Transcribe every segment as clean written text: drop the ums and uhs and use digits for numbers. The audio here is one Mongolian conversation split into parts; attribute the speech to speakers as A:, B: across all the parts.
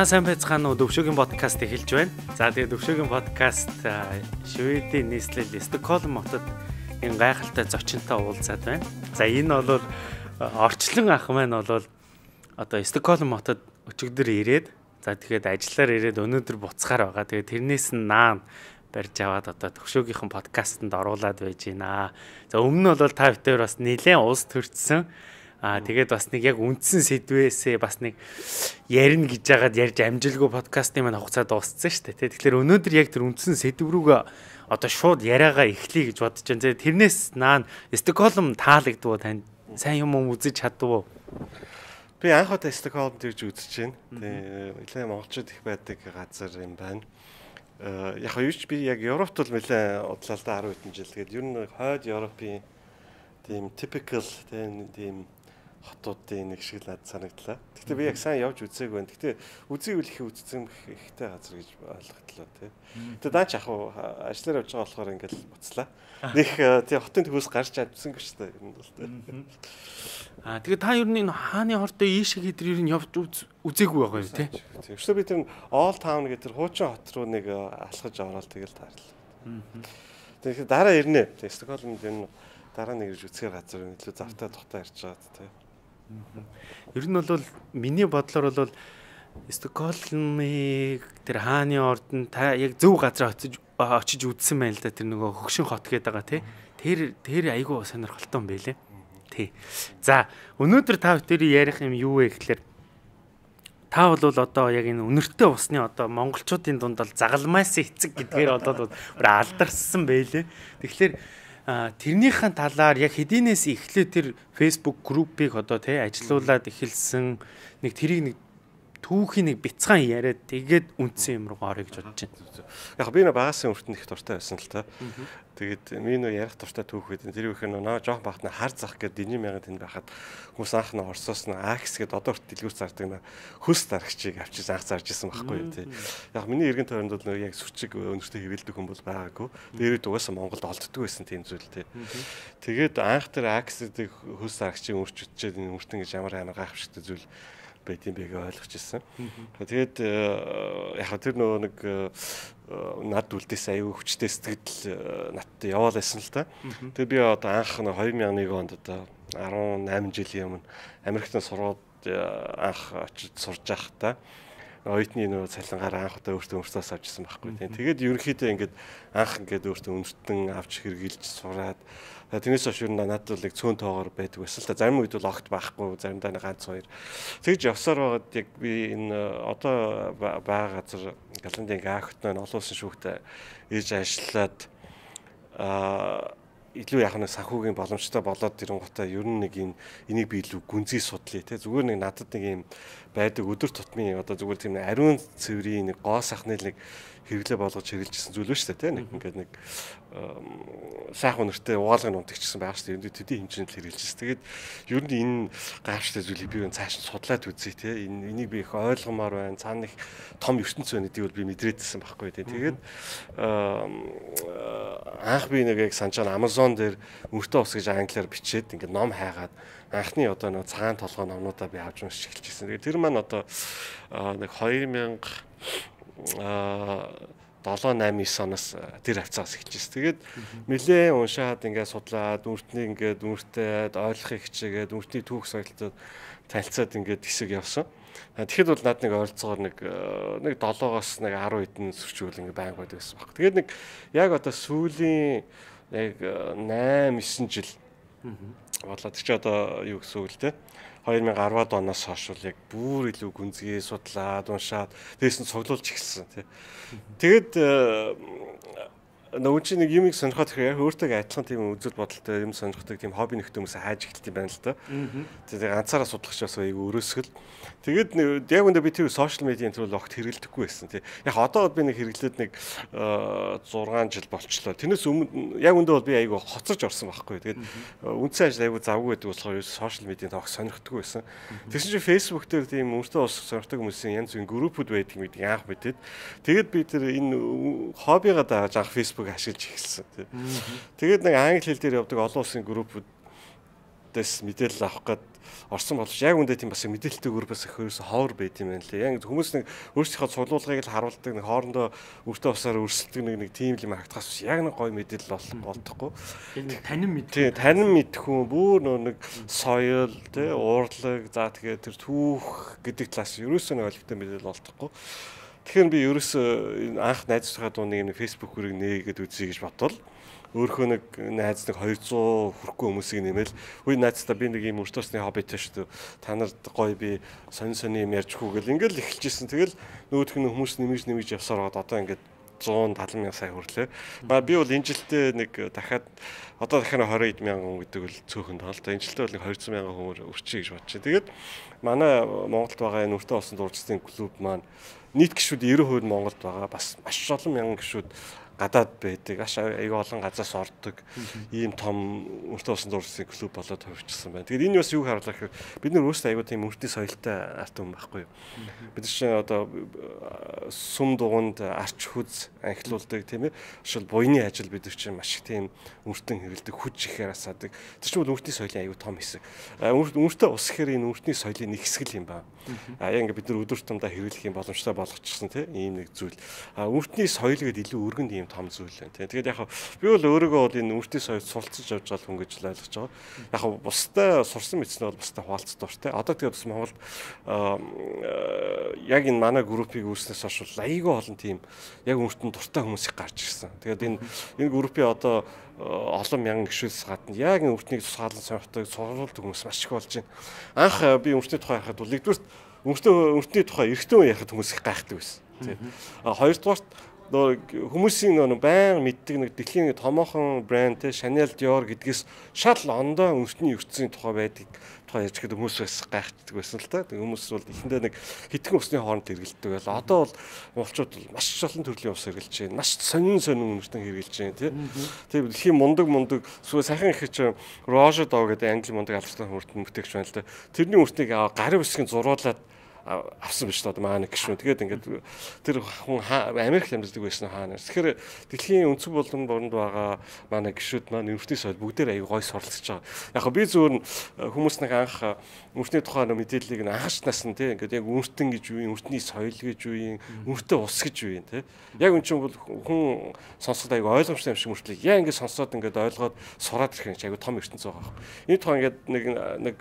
A: сайн байцгаана уу? Төвшөөгийн подкаст эхэлж байна. За тэгээд Төвшөөгийн подкаст Шведийн нийслэл Стокгольм хотод энэ гайхалтай зочинтой уулзаад байна. За энэ бол орчлон ах маань бол одоо Стокгольм хотод өчигдөр ирээд за тэгээд ажиллаар ирээд өнөөдөр буцахаар байгаа. Тэгээд тэрнээс нь наан барьж аваад одоо Төвшөөгийнхэн подкастт оруулаад байж байна. За өмнө нь бол та бүхэн бас нэлээд улс төрчсөн. Тэгээд бас нэг яг үндсэн сэдвээсээ бас нэг ярина гэж яагаад ярьж амжилгүй подкастын маань хугацаа дууссан шүү дээ. Тэгэхээр өнөөдөр яг тэр үндсэн сэдв рүүгээ одоо шууд яриагаа эхлэе гэж бодож байна. Тэрнээс наан Стокгольм таалагдвуу тань сайн юм үзэж чадвуу?
B: Би анх удаа Стокгольмд ирж үзэж байна. Тэгээ монголчууд их байдаг газар юм байна. Яг юу ч би яг Европт бол нэлээд удлаа л да 10 хэдэн жил. Тэгээд ер нь хойд Европын тийм typical тийм хотуудын нэг шиг л санагдлаа. Гэхдээ би яг сайн явж үзээгүй байна. Гэхдээ үзээгүй л их үзсэн ихтэй газар гэж ойлголоо тий. Тэгээд даач яг ажиллаар явж байгаа болохоор ингээл буцлаа. Нэг тий хотын төвөөс гарч чадсангүй шүү дээ. Ер нь бол тий.
A: Тэгээд та ер нь энэ хааны хортой ийшээ гэдэр ер нь явж үзээгүй байгаа юм тий.
B: Өчигдөр би тэр Old Town гэдэг тэр хуучин хот руу нэг алхаж ороод тэгэл таарлаа. Тэгэхээр дараа ирнэ. Стокгольмд энэ дараа нэг ирж үзэхээр газар илүү завтай тухтай ирж байгаа тий.
A: Ер нь бол миний бодлоор бол Стокгольмыг тэр хааны ордон та яг зөв газар очиж үзсэн байна л да, тэр нөгөө хөгшин хот гэдэг байгаа тий. Тэр айгүй сонирхолтой юм байлээ. Тий. За өнөөдөр та бүхэн ярих юм юу вэ гэхээр та бол одоо яг энэ үнэртэй усны одоо монголчуудын дунд бол загалмаас эцэг гэдгээр одоо алдарсан байлээ. Тэгэхээр тэрнийхэн талаар яг хэдийнээс эхлээ тэр Facebook группийг одоо тий ажилуулад эхэлсэн нэг тэрийг нэг түүхийн нэг бяцхан яриад тэгээд үндсэн юм руу орё гэж бодож байна.
B: Яг би нэ багасын өртөнд их дуртай байсан л та. Тэгээд минь ярих дуртай түүх гэдэг. Тэр их нөө жоох багт хар зах гэдэг дижи мянга тэнд байхад хүмүүс анх нь Оросоос нь Акс гэдэг одоо хүртэл дэлгүүр зардаг хөс дарагчийг авчиж анх зарж исэн байхгүй тий. Яг миний эргэн тойронд бол нөө яг сүрчиг өнөртөө хэвэлдэг хүн бол байгаагүй. Дээрээ угаасаа Монголд олддог байсан тийм зүйл тий. Тэгээд анх тэр Акс гэдэг хөс дарагчийг өрч үтчихэд энэ өртөн гэж ямар гайхамшигтай зүйл байдгийн бэгээ ойлгож ирсэн. Тэгээд яг тэр нөгөө нэг над үлдээс аюу хүчтэй сэтгэл надтай яваал байсан л та. Тэгээд би одоо анх 2001 онд одоо 18 жилийн өмнө Америкт сураад анх очиж сурж байхдаа оюутны нөгөө цалингаар анх удаа өөртөө өмөрсөөс авчихсан байхгүй. Тэгээд ерөнхийдөө ингээд анх ингээд өөртөө өмөртөн авч хэрглэж сураад тэрнээс хойш надад бол яг цөөн тоогоор байдаг байсан л та. Зарим үед бол огт байхгүй, заримдаа нэг ганц хоёр. Тэгж явсаар байгаад яг би энэ одоо байгаа газар Голландын Гаахт олон улсын шүүхтээ ээж ажиллаад илүү яг нэг санхүүгийн боломжтой болоод ирэнгуутаа ер нь нэг энийг би илүү гүнзгий судлаа те зүгээр нэг надад нэг юм байдаг өдөр тутмын одоо зүгээр тийм ариун цэврийн нэг гоо сахны нэг хэрэглээ болгож хэрэгжилсэн зүйл ба шүү дээ те нэг ингээд нэг сайхан өнөртэй угаалгын унтагчсан байх шүү дээ төдий хэмжээнд хэрэгжилсэн. Тэгээд ер нь энэ гайхалтай зүйлийг би цааш нь судлаад үзье те энийг би их ойлгомоор байна. Цаана их том ертөнц байна гэдгийг бол би мэдрээдсэн байхгүй те. Тэгээд анх би нэг яг санаж байгаа Amazon дээр мөртөө ус гэж англиар бичээд ингээд ном хайгаад анхны одоо нэг цагаан толгой номнуудаа би авч уншиж эхэлчихсэн. Тэгээд тэр маань одоо нэг 2000 7-8-9 оноос тэр хавцаас эхэлжсэн. Тэгээд нэлээ уншаад ингээд судлаад үртнийг ингээд үртээд ойлгохыг хичээгээд үртний түүх соёлтод танилцаад ингээд хэсэг явсан. Тэгэхэд бол над нэг ойролцоогоор нэг 7-оос нэг 10 хэдэн сөрчүүл ингээд байнг байдаг байсан баг. Тэгээд нэг яг одоо сүүлийн яг 8-9 жил болоод чи одоо юу гэсэн үг л те 2010-ад оноос хойш бол яг бүр илүү гүнзгий судлаад уншаад дээрээс нь цуглуулж эхэлсэн тий. Тэгээд нөгөө чи нэг юмыг сонирхоод ихээр өөртөө адилхан тийм үзэл бодолтой юм сонирхдаг тийм хобби нөхдөй хүмүүс хайж эхэлт юм байна л да. Тэгээд ганцаараа судлах ч бас аягүй өрөөсгөл. Тэгээд яг үндэ би тэр сошиал медиаийн төлөө огт хэрэглэдэггүй байсан тий. Яг одоо би нэг хэрэглээд нэг 6 жил болчлоо. Тэрнээс өмнө яг үндэ бол би аягүй хоцорж орсон байхгүй. Тэгээд үндсэн ажил аягүй завгүй байдаг болохоор сошиал медианд огт сонирхдаггүй байсан. Тэгсэн чинь Facebook дээр тийм өөртөө ус сонирхдаг хүмүүсийн янз бүрийн группүүд байдаг гэдэг анх мэдээд. Тэгээд би тэр энэ хоббигаа дааж анх Facebook ашиглаж эхэлсэн тий. Тэгээд нэг англи хэл дээр явдаг олон улсын группүүд дэс мэдээлэл авах гээд орсон боловч яг үндэ тийм бас мэдээлэлтэй өөр бас хөөс ховор байт юм байна лээ. Яг хүмүүс нэг өөрсдийнхөө цуглуулгыг л харуулдаг, нэг хоорондоо өртөө усаар өрсөлдөг нэг тийм юм харагдахаас яг нэг гоё мэдээлэл олдохгүй.
A: Энэ танин мэд.
B: Тийм, танин мэдхүүн бүр нэг соёл, тий, уурлаг, за тэгээ тэр түүх гэдэг талаас ерөөсөө нэг олигтой мэдээлэл олдохгүй. Тэгэхээр би ерөөсөө анх найзтайгаа дууныг нэг фэйсбүүкээр нээгээд үзье гэж бодвол өөрхөө нэг найз нэг 200 хүрэхгүй хүмүүсийг нэмэл үе найзтаа би нэг юм өртөөсний хоббитэй шүү дээ. Та нарт гоё би сонь юм ярьжгүй гэл ингээл эхэлжсэн. Тэгэл нөгөөх нь хүмүүс нэмж явсаар гоод одоо ингээд 170 мянган сая хүрлээ. Би бол энэ жилдээ нэг дахиад 20 мянган хүн гэдэг бол цөөхөн тоолтой. Энэ жилдээ бол нэг 200 мянган хүн өрчье гэж бодчих. Тэгээд манай Монголд байгаа энэ өртөө усан дурчдын клуб маань нийт гишүүд 90% Монголд байгаа. Бас маш олон мянган гишүүд гадаад байдаг. Аюу олон газраас ордог. Ийм том өртөө усан дурчдын клуб болоод хувирчсан байна. Тэгээд энэ бас юу харуулах гэхээр бид нар өөрсдөө аюу тийм өртний соёлтой арт хүн байхгүй юу? Бид чинь одоо сүм дугуйнд арч хүз анхлуулдаг тийм ээ. Шил буйны ажил бид нар чинь маш их тийм өртөн хэрэлдэг, хүч ихээр асаадаг. Тэр чинь бол өртний соёлын аюу том хэсэг. Өртөө ус гэхээр энэ өртний соёлын нэг хэсэг юм байна. Яг ингээд бид нар өдөр тутамдаа хэрэглэх юм боломжтой болгочихсон тийм ийм нэг зүйл. Өртний соёл гэдэг илүү өргөнд ийм том зүйл байна тийм. Тэгээд яг би бол өөрийгөө бол энэ өртний соёлд суралцж явж байгаа хүн гэж л ойлгож байгаа. Яг бусдаа сурсан мэдснээ бол бусдаа хуваалцах дуртай. Одоо тэгээд бас Монголд яг энэ манай группийг үүснээс хойш айгүй олон тийм яг өртөнд дуртай хүмүүс их гарч ирсэн. Тэгээд энэ группийн одоо олон мянган гишүүдс гадна яг энэ өртнийг тусгаалan сонирхдаг сургуульд хүмүүс маш их болж байна. Анх би өртний тухай ярихад бол нэгдүгээр өртний тухай эртөө ярихад хүмүүс их гайхдаг байсан. Хоёрдугаарт хүмүүсийн баян мэддэг нэг дэлхийн томоохон брэнд те Chanel Dior гэдгээс шал ондоо өртний ертөнцийн тухай байдаг тухай ярьж гэдэг хүмүүс бас гайхдаг байсан л та. Хүмүүс бол эхэндээ нэг хитгэн усны хооронд хэрэгэлдэг байл. Одоо бол монголчууд маш олон төрлийн ус хэрэглэж байна. Маш сонин өртөн хэрэглэж байна тий. Тэгээ дэлхийн мундаг сүү сайхан их чи Roger Dog гэдэг англи мундаг албастай өртөн бүтээгч байна л да. Тэрний өртнийг гарын үсгийн зуруулаад авсан биш одоо маань гişүн. Тэгээд ингээд тэр хүн Америк амьдардаг байсан хаана. Тэгэхээр дэлхийн өнцөг болон боронд байгаа манай гişүүд маань өртний соёл бүгдээр аягүй гой суралцж байгаа. Яг би зөвөр хүмүүс нэг анх өртний тухай мэдээллийг анхаарч насна тий. Ингээд яг өртөн гэж юу юм, өртний соёл гэж юу юм, өртөө ус гэж юу юм тий. Яг үн чинь бол хүн сонсоход аягүй ойлгомжтой юм шиг мөртлөө яа ингээд сонсоод ингээд ойлгоод сураад ирэх юм чи аягүй том ертөнц байгаа юм. Энэ тухай ингээд нэг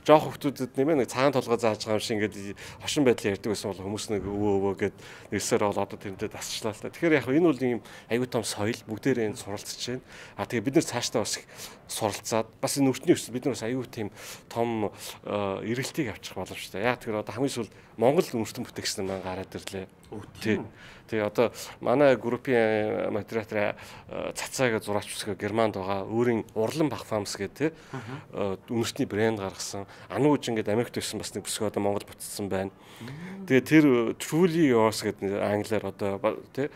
B: жоох хүмүүсд нэмээ нэг цагаан толгой зааж байгаа юм шиг ингээд хошин байдлаар ярьдаг байсан бол хүмүүс нэг өвөө гэд нэрсээр бол одоо тэрнтэй дасчлаа л та. Тэгэхээр яг энэ бол ийм аюу тум соёл бүгдээрээ энэ суралцж байна. Тэгээ бид нар цаашдаа бас их суралцаад бас энэ өртний өсөл бид нар бас аюу тийм том эргэлтийг авчих боломжтой. Яг тэгэхээр одоо хамгийн сүүл Монгол өртөн бүтээгчнэр маань гараад ирлээ. Тэгээ одоо манай группийн модератор цацаагаа зураач үсгээ Германд байгаа өөрийн урлан бах фамс гэдэг үнэртний брэнд гаргасан. Анууж ингээд Америкт ирсэн бас нэг бүсгүй одоо Монгол буцсан байна. Тэгээ тэр Truly Yours гэдэг англиар одоо тий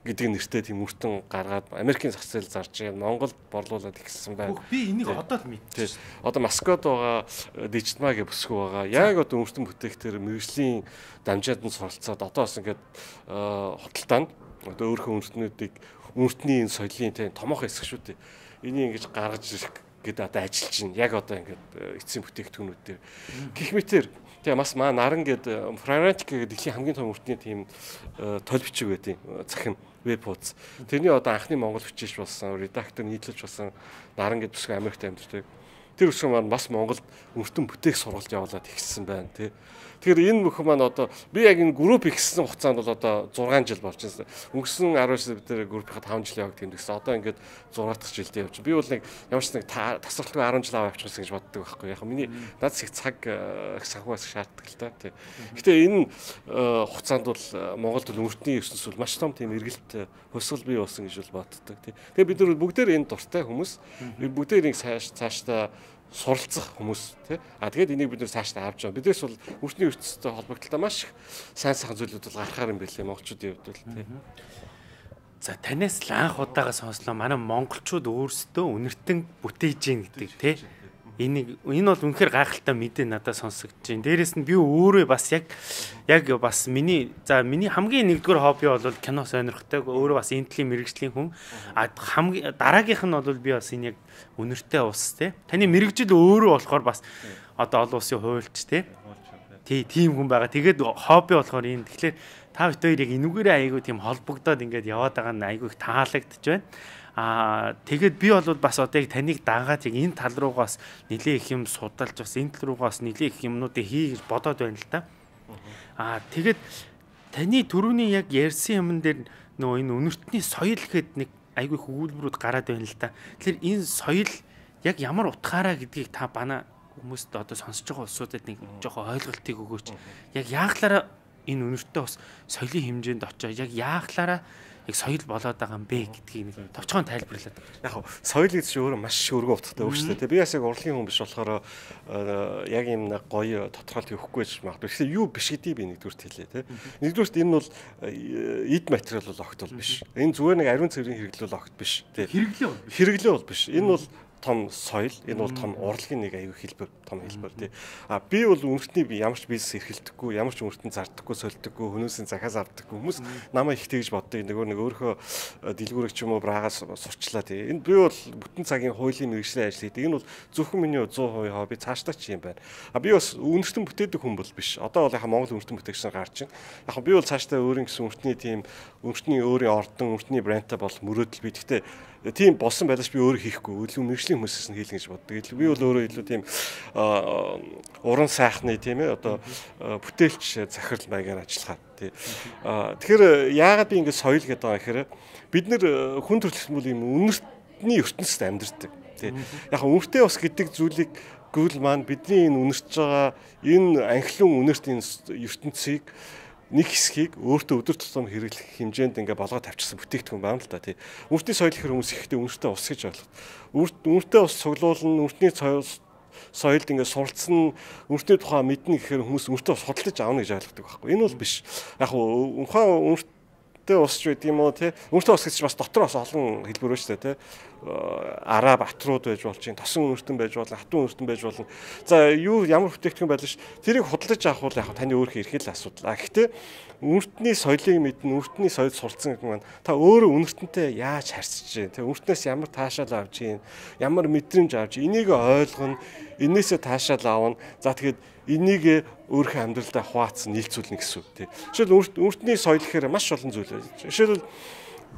B: гэдэг нэртэй тийм өртөн гаргаад Америкийн зах зээл зарж байгаа Монголд борлуулад ихсэн байна.
A: Би энийг одоо л мэдчихсэн.
B: Одоо Москвад байгаа Digitma гэх бүсгүй байгаа. Яг одоо өртөн бүтээгтэр мэргэжлийн дамжаад нь суралцаад одоо бас ингээд худалдаанд одоо өөрийнхөө өртний соёлын тийм томоохон хэсэг шүү дээ. Энийг ингэж гаргаж ирэх гэдэг одоо ажиллаж байна. Яг одоо ингээд эцсийн бүтээгдэхүүнүүд дээр гэх мэтэр тэгээ бас маа наран гэдэг Frantic гэдэг дэлхийн хамгийн том өртний тийм толь бичиг байдیں۔ Захин веб хуудас. Тэрний одоо анхны монгол бичиж болсон, редактор нийтлэж болсон наран гэдэг бүсгүй Америкт амьдардаг. Тэр бүсгүй маань бас Монголд өртөн бүтээх сургалт явуулаад ихсэн байна тий. Тэгэхээр энэ бүхэн маань одоо би яг энэ групп ихсэн хугацаанд бол одоо 6 жил болж байна. Өнгөрсөн 19 сар бид тэр группийнхаа 5 жил яваг тэмдэгсэн. Одоо ингээд 6 дахь жилдээ явж. Би бол нэг ямар ч нэг тасралтгүй 10 жил аваа явчихсан гэж боддог байхгүй. Яг миний надад их цаг санхугаас шаарддаг л та тий. Гэтэ энэ хугацаанд бол Монголд өртний ертөнц бол маш том тийм эргэлт хөсгөл бий болсон гэж бол боддог тий. Тэгээ бид нар бүгдээр энэ дуртай хүмүүс бүгдээр цаашдаа суралцах хүмүүс тий. Тэгээд энийг бид нэр цаашдаа авч байгаа. Биднээс бол өртний ертөнцтэй холбогдлоо маш их сайн зүйлүүд бол гарахаар юм байлээ монголчуудын хувьд бол тий.
A: За танаас л анх удаага сонслоо манай монголчууд өөрсдөө үнэртэн бүтээж гин гэдэг тий. Энэ бол үнэхээр гайхалтай мэдээ надад сонсогдож байна. Дээрээс нь би өөрөө бас яг бас миний хамгийн нэгдүгээр хобби бол кино сонирхдаг. Өөрөө бас энтлийн мэрэгжлийн хүн. Хамгийн дараагийнх нь бол би бас энэ яг үнэртэй ус те. Таны мэрэгжил өөрөө болохоор бас одоо олон улсын хуульч те. Тийм хүн байгаа. Тэгээд хобби болохоор энэ. Тэгэхээр та бүхэн яг энүүгээрээ айгүй тийм холбогдоод ингээд яваад байгаа нь айгүй их таалагдж байна. Тэгээд би бол бас одоо яг таныг дагаад яг энэ тал руугаас нэлээ их юм судалж бас энэ тал руугаас нэлээ их юмнуудыг хийж бодоод байна л та. Тэгээд таны түрүүний яг ярьсан юмн дээр нөгөө энэ үнэртний соёл гэхэд нэг айгүй хөвгүүлбэрүүд гараад байна л та. Тэгэхээр энэ соёл яг ямар утгаараа гэдгийг та бана хүмүүст одоо сонсож байгаа улсуудад нэг жоохон ойлголтыг өгөөч. Яг яахлаараа энэ үнэртээ бас соёлын хэмжээнд очоо яг яахлаараа яг соёл болоод байгаа юм бэ гэдгийг нэг товчхон тайлбарлаад.
B: Яг соёл гэж өөрөө маш өргөн утгатай үг шүү дээ. Би бас яг урлагийн хүн биш болохоор яг юм нэг гоё тодорхойлт өгөхгүй гэж магадгүй. Тэгэхээр юу биш гэдгийг би нэгдүгürt хэлээ те. Нэгдүгürt энэ бол эд материал бол огт бол биш. Энэ зүгээр нэг ариун цэврийн хэрэглэл огт биш. Хэрэглээ бол биш. Энэ бол том соёл, энэ бол том урлагийн нэг аюу хэлбэр, том хэлбэр тий. Би бол үнэртний ямар ч бизнес эрхэлдэггүй, ямар ч үнэртэн зардаггүй, сольдөггүй, хүмүүсийн захиас авдаггүй. Хүмүүс намайг их тэгж боддог. Нөгөө өөрийнхөө дэлгүүрийг ч юм уу браагаас сурчлаа тий. Энэ би бол бүтэн цагийн хуулийн мэргэжлийн ажил хийдэг. Энэ бол зөвхөн миний 100% хобби, цаашдаа ч юм байна. Би бас үнэртэн бүтээдэг хүн бол биш. Одоо бол яхаа Монгол үнэртэн бүтээгчнэр гарч байна. Яг би бол цаашдаа өөрийн гэсэн үнэртний тийм үнэртний өөрийн ордон, үнэртний брендтай бол мөрөөдөл би. Гэхдээ тийм болсон байлаач би өөрөө хийхгүй. Илүү мэргэжлийн хүмүүсээс нь хийлгэн гэж боддог. Би бол өөрөө илүү тийм уран сайхны тийм ээ одоо бүтээлч захирал маягаар ажиллахаа тий. Тэгэхээр яагаад би ингэ соёл гэдэг байгаа гэхээр бид нэр хүн төрөлхтөн бол юм үнэртний ертөнцид амьдардаг тий. Яг үнэртэй ус гэдэг зүйлийг гүйл маань бидний энэ үнэрч байгаа энэ анхлын үнэрт энэ ертөнцийг нэг хэсгийг өөртөө өдөр тутам хэрэглэх хэмжээнд ингээ болгоод тавьчихсан бүтээгдэхүүн байна л да тий. Үнэртний соёл гэхээр хүмүүс ихтэй үнэртээ ус гэж ойлголоо. Үнэртээ ус цуглуулна, үнэртний соёлд ингээ суралцсан, үнэртний тухай мэднэ гэхээр хүмүүс үнэртээ ус худалдаж аавна гэж ойлгодог байхгүй. Энэ бол биш. Яг ухаан үнэртээ ус ч байд юм уу тий. Үнэртээ ус гэж бас дотор бас олон хэлбэр байна шүү дээ тий. Араа батрууд байж болж чинь, тосон үнэртэн байж болно, хатуу үнэртэн байж болно. За юу ямар бүтээгдэхүүн байлаа ш. Тэрийг худалдаж авах бол яг таны өөрийнхөө эрхэл асуудал. Гэхдээ үнэртний соёлыг мэднэ, үнэртний соёл суралцсан гэх юм. Та өөрөө үнэртэнтэй яаж харьцаж чинь, тэг үнэртнээс ямар таашаал авч чинь, ямар мэдрэмж авч, энийг ойлгоно, энээсээ таашаал авна. За тэгэхэд энийг өөрийнхөө амьдралдаа хуваацсан нийлцүүлнэ гэсэн үг тий. Жишээл үнэртний соёл гэхээр маш олон зүйл байна. Жишээл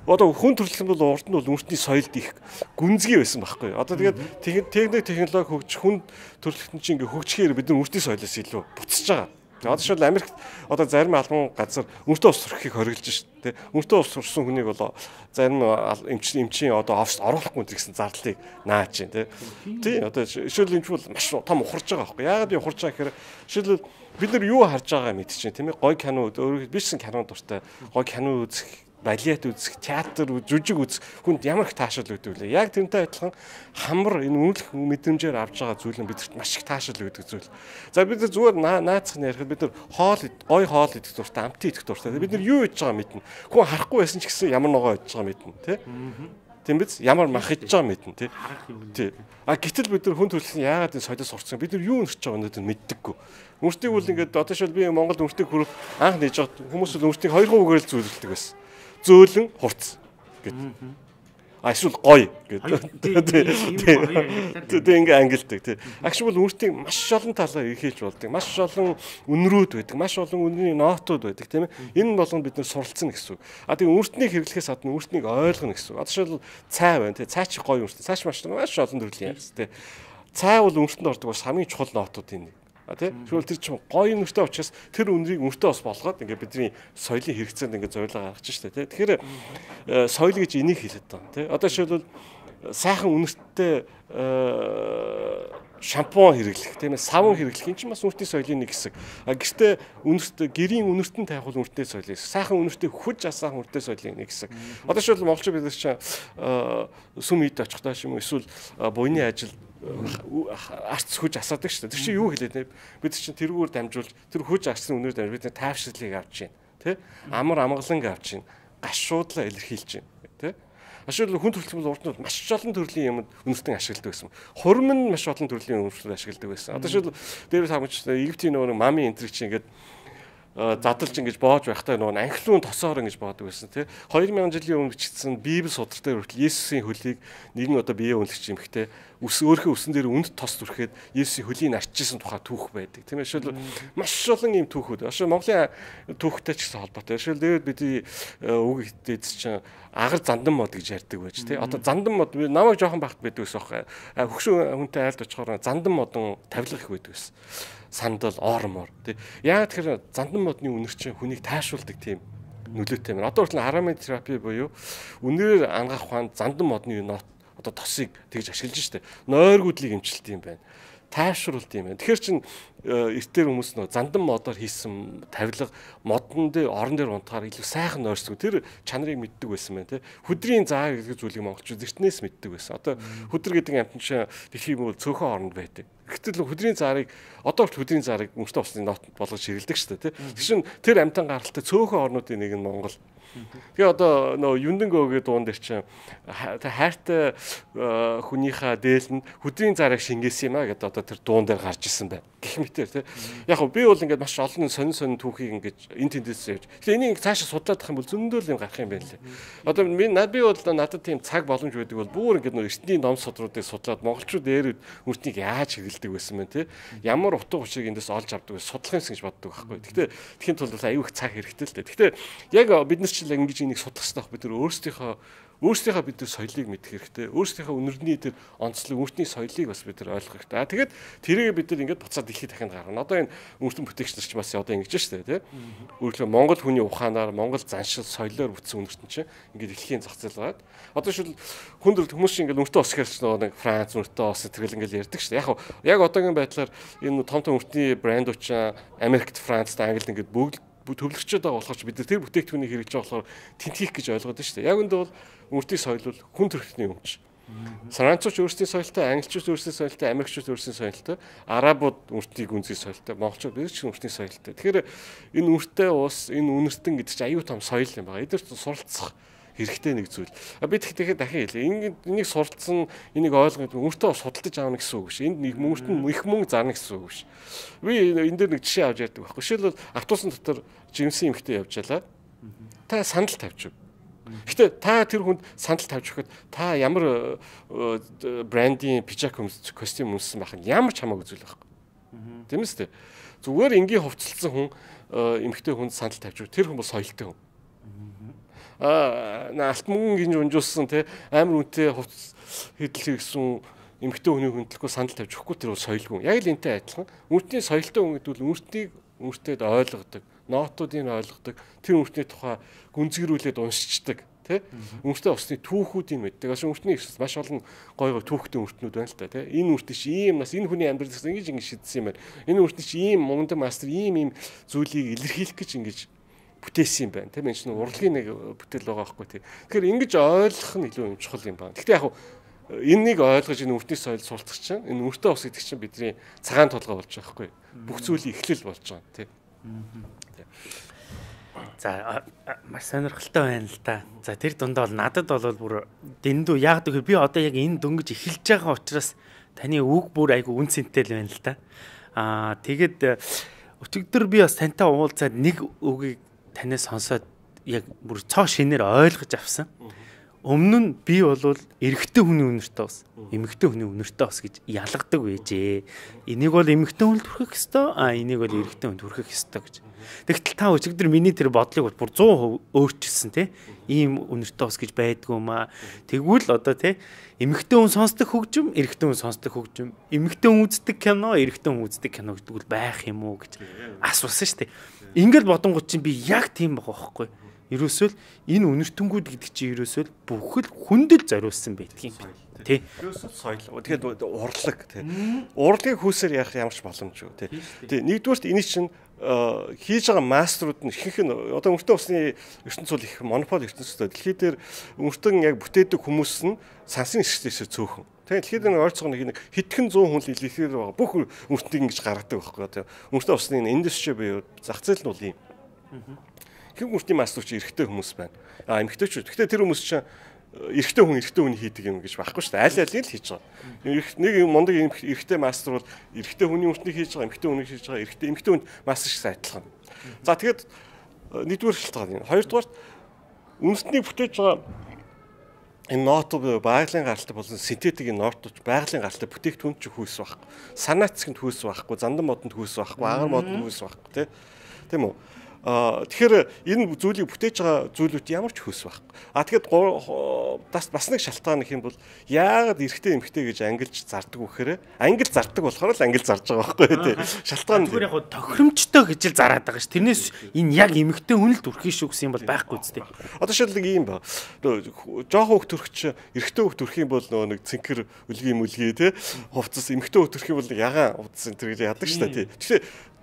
B: одоо хүн төрөлхтөн бол урд нь бол үнэртний соёлд их гүнзгий байсан байхгүй. Одоо тэгээд технологи хөгжих хүн төрөлхтөн чинь ингээ хөгжихээр бид нар үнэртний соёлоос илүү буцаж байгаа. Одоо шил Америкт одоо зарим албан газар үнэртээ ус сурахыг хориглож шүү дээ. Үнэртээ ус сурсан хүнийг бол зарим эмчийн одоо оффист оруулахгүй гэсэн зардалыг нааж байна тий. Одоо шил эмч бол маш том ухарж байгаа байхгүй. Яагаад ухарж байгаа гэхээр шил бид нар юу харж байгаагаа мэдчихээн тийм ээ. Гой кино өөрөө бичсэн кино дуртай. Гой кино үзэх, балет үзэх, театр, жүжиг үзэх хүнд ямар их таашаал өгдөг вэ? Яг тэрнтэй адилхан хамар энэ үнэлэх мэдрэмжээр авж байгаа зүйл нь бидэрт маш их таашаал өгдөг зүйл. За бид нар зүгээр наацх нь ярихад бид нар гой хоол идэх дуртай, амтын идэх дуртай. Бид нар юу хийж байгаа мэднэ. Хүн харахгүй байсан ч гэсэн ямар ногоо хийж байгаа мэднэ, тий? Тийм биз? Ямар мах хийж байгаа мэднэ, тий? Тий. Гэтэл бид нар хүн төрөлхтөн яагаад энэ соёлоос сурцсан? Бид нар юу нэрч байгаа өнөөдөр мэддэггүй. Үнэртийг бол ингээд одоо шил би Монголд үнэртийг хүрэх анх нээж байгаа хүмүүс бол үнэртийг 2 үгээр л зөвлөдөг байсан. Зөөлөн хурц гэдэг. Эсвэл гоё гэдэг. Тэгээ ингээ ангилдаг тий. Агш бол үнэртийг маш олон талаар эрхэлж болдог. Маш олон үнрүүд байдаг. Маш олон үнрийн нотууд байдаг тийм ээ. Энэ болгонд бид нэр суралцсан гэсэн үг. Тэгээ үнэртнийг хэрэглэхээс гадна үнэртнийг ойлгоно гэсэн үг. Одоо шил цай байна тий. Цай ч гоё үнэртэй. Цай маш олон төрлийн юм тий. Цай бол үнэртэнд ордог бас хамгийн чухал нотууд энэ. Тэгвэл тэр чинь гоё нүртэй учраас тэр үнрийг үнртэй бас болгоод ингээ бидний соёлын хэрэгцээнд ингээ зориулга гаргаж штэ тий. Тэгэхээр соёл гэж энийг хэлээд байгаа тий. Одоо жишээлбэл сайхан үнэртэй шампунь хэрэглэх тийм ээ, савн хэрэглэх энэ чинь бас үнэртний соёлын нэг хэсэг. Гэхдээ гэрийн үнэртэн тавих бол үнэртний соёл юм. Сайхан үнэртэй хүж асаах үнэртний соёлын нэг хэсэг. Одоо жишээлбэл монголчууд бид нар чинь сүм ийд очихдаа юм эсвэл буйны ажил арц хүж асаадаг шүү дээ. Тэр чинь юу хэлээд нэ? Бид чинь тэрүүгээр дамжуулж тэр хүж арцны үнээр дамжуулж бид тайвшрлыг авч чинь, тий? Амар амгаланг авч чинь, гашуудлаа илэрхийлж чинь, тий? Ашигла хүн төрөлхтөн урднууд маш олон төрлийн юмд үнэртэн ашигладаг байсан. Хурим нь маш олон төрлийн үнэртэн ашигладаг байсан. Одоо жишээл дээрээс хамаач Египтийн нөгөө мами энтриг чинь ингээд задлж ингэж боож байхдаа нөгөө анхлуун тосоор ингэж боодог байсан тий 2000 жилийн өмнө бичсэн Библи судралтай хүртэл Есүсийн хөлийг нэгэн одоо биеэ үнэлж юмхтэй өөрийнхөө үсэн дээр үнд тос зүрхэд Есүсийн хөлийг арчижсэн тухай түүх байдаг тийм ээ шил маш олон юм түүхүүд ашиг Монголын түүхтэй ч гэсэн холбоотой шил дээд бидний үг идэд чинь агар зандан мод гэж ярьдаг байж тий одоо зандан мод намайг жоохон багт байдаг гэсэн хөгшин хүнтэй айлд очихоор зандан модон тавилга их байдаг гэсэн сандал ормор тий яа тэгэхээр зандан модны үнэр чинь хүнийг тайшуулдаг тийм нөлөөтэй юм. Одоо хүртэл ароматерапи буюу үнээр ангаах ухаанд зандан модны одоо тосыг тэгж ашиглаж штэ нойргуудлыг эмчилт юм байна. Тайвшруулт юм байна. Тэгэхээр чин эртээр хүмүүс нөө зандан модоор хийсэн тавилга модон дээр орон дээр унтахаар илүү сайхан нойрсгүй тэр чанарыг мэддэг байсан байна тий. Хүдрийн заа гэдэг зүйлийг монголчууд эртнээс мэддэг байсан. Одоо хүдэр гэдэг амтан чинь дэлхийн мөр цөөхөн оронд байдаг. Гэтэл хүдрийн заарыг одоо хүдрийн заарыг өмчтөй усны нот болгож ширэлдэг шүү дээ тий. Тэгшин тэр амтан гаралтай цөөхөн орнуудын нэг нь Монгол. Тэгээ одоо нөө Юндэнгөөгийн дуун дээр чинь хайртай хүнийхээ дээлэнд хүдрийн заарыг шингээсэн юм а гэдэг одоо тэр дуун дээр гарч исэн байна. Гэх мэтэр тий. Яг би бол ингээд маш олон сонин түүхийг ингээд энэ тэндээс явж. Тэгээ энийг цаашаа судлаад ах юм бол зөндөл юм гарах юм байна лээ. Одоо би бол надад тийм цаг боломж байдаг бол бүр ингээд нөө эртний ном содруудыг судлаад монголчууд дээр үртнийг яаж хэрэгэлдэг байсан бэ тий. Ямар утга учирыг эндээс олж авдаг вэ? Судлах юмс гэж боддог байхгүй. Гэхдээ тхийн тулд аюу их цаг хэрэгтэй л дээ. Гэхдээ яг бид нар ч ингэж энийг судлах хэрэгтэй байх бид нар өөрсдийнхөө бид нар соёлыг мэдэх хэрэгтэй. Өөрсдийнхөө үнэрний тэр онцлог өөртний соёлыг бас бид нар ойлгох хэрэгтэй. Тэгээд тэрийг бид нар ингээд буцаад дэлхийд дахинд гаргана. Одоо энэ үнэртэн бүтээгч нар ч бас одоо ингэж штэ тий. Өөрөлдөө Монгол хүний ухаанаар Монгол заншил соёлоор бүтсэн үнэртэн чинь ингээд дэлхийн зах зээл байгаад. Одоо шил хүнд хүмүүс чинь ингээд үнэртэн ус гэхэрч нэг Франц үнэртэн ус тэргэл ингээд ярьдаг штэ. Яг одоогийн байдлаар энэ том үнэртний брэндүүд чинь Америкт, Францд, Англид ингээд бүгд төвлөрчөөд байгаа болохоор бид нар тэр бүтээгдэхүүнийг хэрэгжиж байгаа болохоор тэнтгэх гэж ойлгоод байна шүү дээ. Яг үүнд бол үнэртний соёл бол хүн төрхтний өмч. Францууч өөрсдийн соёлтой, англичууд өөрсдийн соёлтой, америкчууд өөрсдийн соёлтой, арабууд үнэртнийг үнзий соёлтой, монголчууд бид ч үнэртний соёлтой. Тэгэхээр энэ үнэртэй уус, энэ үнэртэн гэдэг чинь аюу тум соёл юм байна. Эдгээр суралцах хэрэгтэй нэг зүйл. Би тэгэхээр дахин хэлээ. Энийг суралцсан, энийг ойлгох үнэртээ бас судалдаж аавна гэсэн үг биш. Энд нэг үнэртэн их мөнгө зарна гэсэн үг биш. Би энэ дээр нэг жишээ авч ярьдаг байхгүй. Жишээлбэл автобусны дотор жимсэн эмэгтэй явж ялаа. Та сандал тавьчих. Гэтэ та тэр хүнд сандал тавьж өгөхөд та ямар брендийн пижак костюм өмссөн байх нь ямар ч хамаагүй зүйл байхгүй. Тийм үстэй. Зүгээр энгийн хувцалсан хүн эмэгтэй хүнд сандал тавьж өгөх. Тэр хүн бол соёлтой хүн. Алт мөнгө гинж унжуулсан те амар үнэтэй хувц хэдэл хэрэгсэн эмэгтэй хүний хөндлөхгүй сандал тавьж өгөхгүй тэр бол соёлгүй. Яг л энтэй адилхан. Үнэртний соёлтой хүн гэдэг бол үнэртээд ойлгодог, нотуудыг ойлгодог, тэр үнэртний тухай гүнзгийрүүлээд уншичдаг, тэ? Үнэртээ усны түүхүүдийг мэддэг. Бас үнэртний маш олон гой түүхтэй үнэртнүүд байна л та, тэ? Энэ үнэртний чи ийм нас, энэ хүний амьдралаас ингэж шийдсэн юм байна. Энэ үнэртний чи ийм мундаг мастер ийм зүйлийг илэрхийлэх гэж ингэж бүтээсэн юм байна. Тийм энэ чинь урлагийн нэг бүтээл байгаа байхгүй тий. Тэгэхээр ингэж ойлгох нь илүү чухал юм байна. Гэхдээ яг энэнийг ойлгож энэ үнэртний соёл суралцах чинь энэ үнэртээ ус гэдэг чинь бидний цагаан толгой болж байгаа байхгүй. Бүх зүйлийн эхлэл болж байгаа тий.
A: За маш сонирхолтой байна л да. За тэр дундаа бол надад бол бүр дэндүү яг гэвэл би одоо яг энэ дөнгөж эхэлж байгаа учраас таны үг бүр айгу үн цэнтэй л байна л да. Тэгээд өчигдөр би бас тантай уулзаад нэг үгийг танаас сонсоод яг бүр цоо шинээр ойлгож авсан. Өмнө нь би бол эрэгтэй хүний үнэртэй ус, эмэгтэй хүний үнэртэй ус гэж ялгадаг байжээ. Энийг бол эмэгтэй хүнд хүрхэх ёстой, энийг бол эрэгтэй хүнд хүрхэх ёстой гэж. Тэгтэл та өчигдөр миний тэр бодлыг бүр 100% өөрчилсөн тий. Ийм үнэртэй ус гэж байдгүй юм аа. Тэгвэл одоо тий эмэгтэй хүн сонсдог хөгжим, эрэгтэй хүн сонсдог хөгжим, эмэгтэй хүн үздэг кино, эрэгтэй хүн үздэг кино гэдэг бол байх юм уу гэж асуусан шүү дээ. Ингээл бодонгууд чинь би яг тийм байгаа байхгүй. Ерөөсөө энэ үнэртэнгүүд гэдэг чинь ерөөсөө бүхэл хүндэл зориулсан байдаг юм байна. Тий.
B: Ерөөсөө соёл. Тэгэхээр урлаг тий. Урлагийг хүүсээр яах ямар ч боломжгүй тий. Тий. Нэгдүгээрт энэ чинь хийж байгаа мастерууд нь ихэнх нь одоо үнэртэн усны ертөнцийн цул их монопол ертөнцийн дэлхий дээр үнэртэн яг бүтээдэг хүмүүс нь сансын эсрэгээс цөөхөн. Тэгэхээр дэлхийд нэг ойрцоо нэг хэдхэн 100 хүн л илэрхээр байгаа. Бүх үнэртнийг ингэж гаргадаг байхгүй. Үнэртэн усны индастри буюу зах зээл нь бол ийм. Хэв үнэртний мастер чи эрэгтэй хүмүүс байна. Эмэгтэйчүүд. Гэхдээ тэр хүмүүс чинь эрэгтэй хүн хийдэг юм гэж байхгүй шүү дээ. Аль алийг л хийж байгаа. Нэг мундаг эрэгтэй мастер бол эрэгтэй хүний өртнийг хийж байгаа, эмэгтэй хүнийг хийж байгаа, эмэгтэй хүнд мастер шиг адилхан. За тэгээд нэгдүгээр шалтгаан юм. Хоёрдугаар үндэсний бүтээж байгаа энэ нот байгалийн гаралтай болон синтетикийн нотч байгалийн гаралтай бүтээгдэхүүн ч хүйс байхгүй. Санаа цэцгэнд хүйс байхгүй, зандан модонд хүйс байхгүй, агар модонд хүйс байхгүй тийм үү? Тэгэхээр энэ зүйлийг бүтээж байгаа зүйлүүд ямар ч хөөс байхгүй. Тэгэхээр бас нэг шалтгаан гэх юм бол яагаад эрэгтэй эмэгтэй гэж ангилж зардаг вэ гэхээр ангил зардаг болохоор л ангил зарж байгаа байхгүй тий. Шалтгаан
A: зүгээр яг тохиромжтой гэж л зараад байгаа ш. Тэрнээс энэ яг эмэгтэй хүн л төрхий шүү гэсэн юм бол байхгүй үстэй.
B: Одоо шилдэг ийм ба. Жохон хөх төрч эрэгтэй хөх төрх юм бол нөгөө нэг цэнхэр үлгий тий. Хувцас эмэгтэй хөх төрх юм бол ягаан хувцас энэ гэж яадаг ш та тий. Тэгэхээр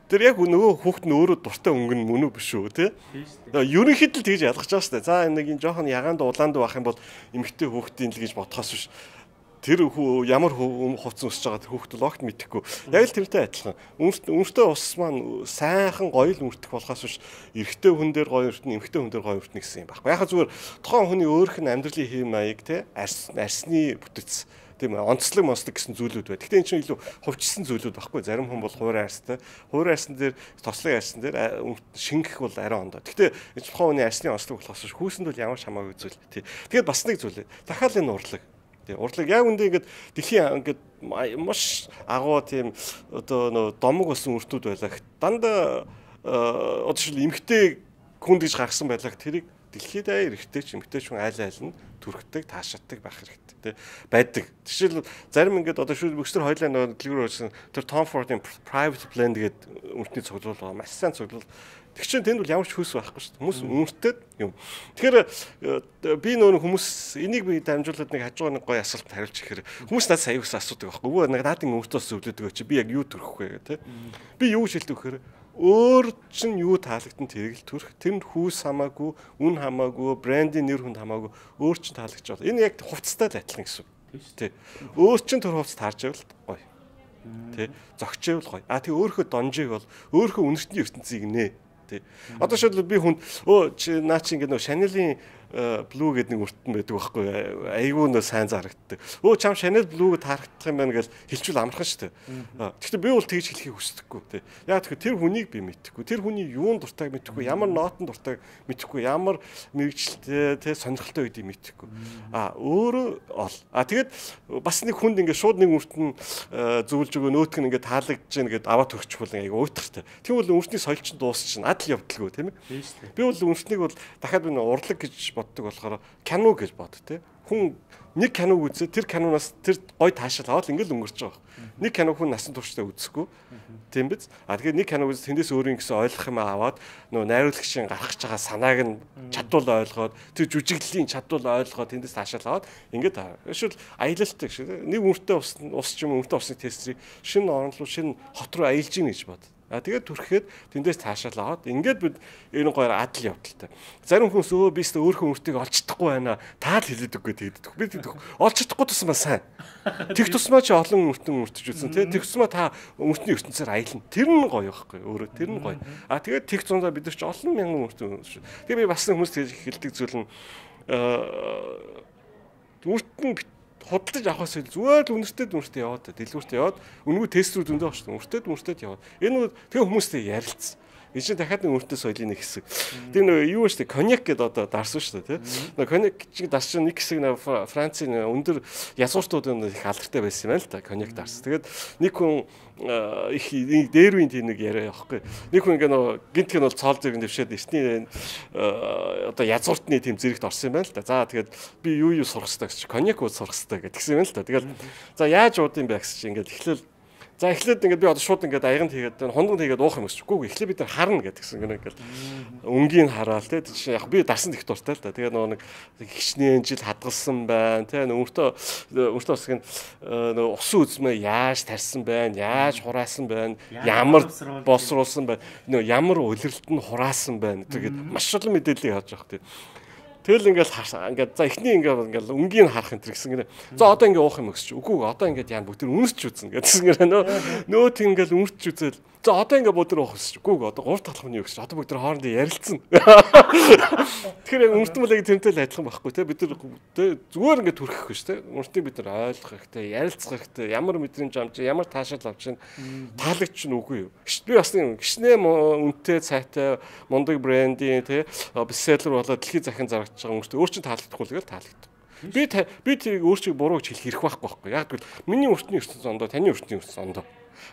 B: тэр яг нөгөө хүүхэд нь өөрөө дуртай өнгөн мөн үү биш үү те. Ерөнхийд л тэгж ялгаж байгаа шүү дээ. За нэг энэ жоохон ягаанд улаанд байх юм бол эмэгтэй хүүхдийн л гэж бодхоос биш. Тэр ямар хувцас өсөж байгаа тэр хүүхэд л огт мэдэхгүй. Яг л тэрнтэй адилхан. Өмөртөө ус маань сайхан гоё л өртөх болохоос биш. Эрэгтэй хүн дээр гоё өртнө, эмэгтэй хүн дээр гоё өртнө гэсэн юм байхгүй. Яг зүгээр тухайн хүний өөрийнх нь амьдралын хэм маяг те арсны бүтэц тийм онцлог гэсэн зүйлүүд бай. Гэхдээ энэ чинь илүү хувьчилсан зүйлүүд байхгүй. Зарим хүн бол хуурай арстай. Хуурай арсан дээр тослог арсан дээр шингэх бол арай ондоо. Гэхдээ энэ тухайн хүний арсны онцлог болохоос хүүсэнд бол ямар ч хамаагүй зүйл. Тийм. Тэгээд бас нэг зүйл. Дахиад энэ урлаг. Тийм. Урлаг яг үндэ ингээд дэлхийн ингээд маш агуу тийм одоо нөө домог болсон үртүүд байлаа. Дандаа одоо шил эмхтэй хүн гэж гаргасан байлаа. Тэрийг дэлхийд эрэгтэй ч эмэгтэй ч хүн айл нь түрхдэг, таашааддаг байх хэрэгтэй тий байдаг. Жишээл зарим ингээд одоо бүгд хоёлаа нөгөө дэлгүүр өрсөн тэр Tom Ford-ийн Private Plane гэдэг үнэтний цуглуул байгаа. Маш сайн цуглуул. Тэг чинь тэнд бол ямар ч хөөс байхгүй шүү дээ. Хүмүүс үнэтэй юм. Тэгэхээр би нөгөө хүмүүс энийг би дамжуулаад нэг хажуугаар нэг гоё асуулт хариулж ихээр хүмүүс надад сая ус асуудаг байхгүй. Өвөө нэг наадын өөртөөс зөвлөдөг чи би яг юу төрөх вэ тий. Би юу шилдэг гэхээр өөр чинь юу таалагдсан тэрийг л төрөх. Тэнд хүүс хамаагүй, үн хамаагүй, брендийн нэр хүнд хамаагүй өөр чинь таалагдж байна. Энэ яг хувцастай л адилхан гэсэн үг. Тий. Өөр чинь төр хувцас таарч байвал гоё. Тий. Зогчээвэл гоё. Тэг өөрийнхөө донжийг бол өөрийнхөө үнэртний ертөнцийг нэ. Тий. Одоо шил би хүнд наа чи ингээд нөө Chanel-ийн Blue гэдэг нэг өртөн байдаг байхгүй айгүй нөө сайн зарагддаг. Чам Chanel Blue-г таарах юм байна гэж хэлчихвэл амархан шүү дээ. Гэхдээ би бол тэгж хэлхийг хүсдэггүй тий. Яг тэгэхээр тэр хүнийг би мэдэхгүй. Тэр хүний юун дуртайг мэдэхгүй, ямар нотон дуртайг мэдэхгүй, ямар мэрэгчлээ тий сонирхолтой үедийг мэдэхгүй. Өөрөө ол. Тэгээд бас нэг хүнд ингээд шууд нэг өртөн зөвлөж өгөө нөөтг нь ингээд таалагдж гэнэ гэдээ аваад төрчихвол айгүй уйтгартай. Тийм бол өртний соёл чинь дуусчихна. Адал явдалгүй тийм ээ. Би бол өртнийг бол дахиад би урлаг гэж боддог болохоор кино гэж бод тий. Хүн нэг киног үзээ тэр киноноос тэр гой таашаал аваад ингээл өнгөрч байгаа. Нэг кино хүн насан туршдаа үзэхгүй. Тийм биз? Тэгэхээр нэг киног үзээ тэндээс өөрийн гэсэн ойлгох юм аваад нөө найруулагчийн гаргаж байгаа санааг нь чадвал ойлгоод тэр жүжиглэлийн чадвал ойлгоод тэндээс таашаал аваад ингээд эсвэл аялалтай шиг нэг үнэтэй ус ч юм үнэтэй усны тестрийг шинэ орнолоо шинэ хот руу аялж гин гэж бод. Тэгээд түрхэхэд тэндээс таашаал аваад ингээд бид энэ гоёор адал явдалтай. Зарим хүмүүс би өөртөө өөрхөн үртийг олж чадахгүй байна. Таал хэлээд үгүй тэгдэг. Би олж чадахгүй тусмаа сайн. Тэг тусмаа чи олон үртэн үртэж үзсэн тий. Тэг тусмаа та үртний ертөнцөөр аялна. Тэр нь гоё байхгүй өөрөө тэр нь гоё. Тэгээд тэг зундаа бид нар чи олон мянган үртэн шүү. Тэгээ би бас хүмүүс тэгж хэлдэг зүйл нь үртэн худалдаж авахаас зүгээр л үнэртэй яваад дэлгүүртээ яваад үнгүү тестрүүд өндөө багш үнэртэй яваад энэ тэгээ хүмүүстэй ярилцсан. Энэ чинь дахиад нэг үнэртэй соёлын нэг хэсэг. Тэр нэг юу вэ? Коньяк гэдэг одоо дарсан шүү дээ тий. Коньяк чиг дарс чинь нэг хэсэг Францын өндөр язгууртууд их алдартай байсан юм байна л да. Коньяк дарс. Тэгээд нэг хүн их дээр үеийн тийм нэг яриа явахгүй. Нэг хүн ингээ гинтг нь бол цоол зэрэг дэвшээд эртний одоо язгууртны тийм зэрэгт орсон юм байна л да. За тэгээд би юу сурах хэрэгтэй гэж коньяк ууд сурах хэрэгтэй гэдгсэн юм л да. Тэгээд за яаж уудын бэ гэсэн чинь ингээ эхлээл за эхлээд ингээд би одоо шууд ингээд аяганд хийгээд хондонд хийгээд уух юм гэсчгүй. Эхлээд бид нар харна гэдгсэн гэнэ ингээд өнгийн хараал те чинь яг би дарсан их дуртай л да. Тэгээ нөгөө нэг хичнээн жил хадгалсан байна те өөртөө усгийн усан үзмээ яаж тарьсан байна, яаж хураасан байна, ямар боловсруулсан байна, ямар улиралт нь хураасан байна. Тэгээд маш олон мэдээлэл явж байгаа хэрэг. Тэгэл ингээд за эхний ингээд өнгийн харах энэ гэсэн гинэ. За одоо ингээд уух юм өсч. Үгүй одоо ингээд яа бүгд үнэрч үзнэ гэсэн гинэ. Нөө тийм ингээд үнэрч үзэл. За одоо ингээд бүгд уух өсч. Үгүй одоо 3 талхны өсч. Одоо бүгд хоорондоо ярилцсан. Тэгэхээр яг үнэртэн мөлийг тэмтэл адилхан байхгүй те. Бид нар зүгээр ингээд төрөхгүй ш те. Үнэртийг бид нар ойлгох хэрэгтэй, ярилцах хэрэгтэй. Ямар мэдрэмж амж, ямар таашаал авч чинь таалагч нь үгүй юу. Би бас гişнээ үнэтэй цайтай мундаг брендийн те бестселлер болоод дэлхийн захин зарагдаж байгаа хүмүүст өөр чинь таалагдахгүй л таалагддаг. Би тэрийг өөрчиг буруу гэж хэлэх хэрэг байхгүй. Яг гэвэл миний өртний ертөнц ондоо, таны өртний ертөнц ондоо.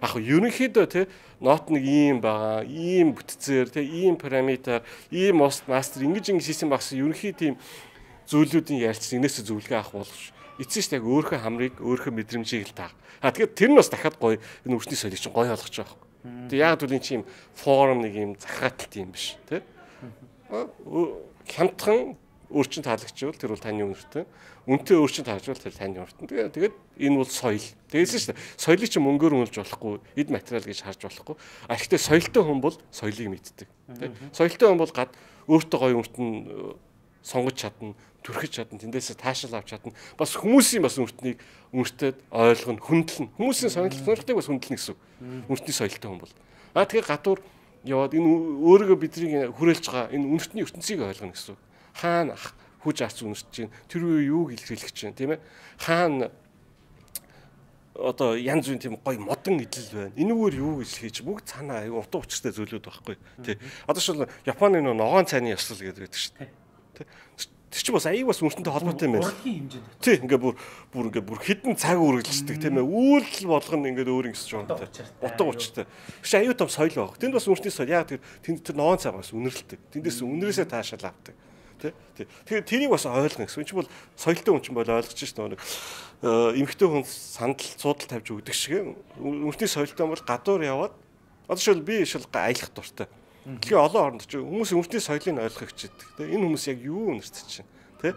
B: Яг ерөнхийдөө те нот нэг ийм байгаа, ийм бүтцээр те ийм параметр, ийм мастер ингэж хийсэн багс ерөнхий тийм зүйлүүдийн ярилцсан энэс зөвлөгөө авах болгож. Эцсийн ш яг өөрийнхөө хамрыг, өөрийнхөө мэдрэмжийг л таах. Тэгэхээр тэр нь бас дахиад гоё энэ өртний соёлыг чинь гоё болгож байгаа. Тэгээ яг л энэ чинь форум нэг юм захааталт юм биш те. Хямдхан өөрчн таалагчвал тэр бол таны үнэртэй. Үнэтэй өөрчн таажвал тэр таны үнэртэй. Тэгээд энэ бол соёл. Тэгээсэн шүү дээ. Соёлыг чи мөнгөөр үнэлж болохгүй, эд материал гэж харж болохгүй. А ихтэй соёлтой хүн бол соёлыг мэддэг. Тэ. Соёлтой хүн бол гад өөртөө гоё үнэртэн сонгож чадна, түрхэж чадна, тэндээсээ таашаал авч чадна. Бас хүмүүсийн бас үнэртнийг үнэртэд ойлгоно, хүндлэн. Хүмүүсийн сонирхлыг бас хүндлэнэ гэсэн. Үнэртний соёлтой хүн бол. А тэгээ гадуур яваад энэ өөрийгөө бидний хүрээлж байгаа энэ үнэртний ертөнцийг ойлгоно гэсэн. Хаана хүж арц үнэрч чинь тэр үе юу илэрхийлэх чинь тийм ээ. Хаана одоо янз бүрийн тийм гоё модон идэл байна. Энэгээр юу гэж хийж бүгд цаанаа аюу утга учиртай зүйлүүд байхгүй тий. Одоо шил Японы ногоон цайны ёслол гэдэг байдаг шүү дээ. Тий. Тэр чинь бас аюу бас үнэртэнтэй холбоотой юм байна. Тий ингээ бүр хідэн цаг үргэлжлэдэг тийм ээ. Үйлдэл болгоно ингээ өөр ингэсэж байгаа юм тий. Утга учиртай. Чи аюу том соёл баг. Тэнд бас үнэртний соёл яг тэнд тэр ногоон цай бас үнэрлдэг. Тэндээс үнэрээсээ таашаал авдаг. Тэгэхээр тэрийг бас ойлгоно гэсэн. Энэ чинь бол соёлтой хүн чинь бол ойлгож шээ нэг эмэгтэй хүн сандал цуудал тавьж өгдөг шиг үнэртний соёлтой бол гадуур яваад одоо шил би шил аялах дуртай. Тэгэхээр олон оронд чи хүмүүс үнэртний соёлыг ойлгох хичээдэг. Тэ энэ хүмүүс яг юу үнэртэж чинь тэ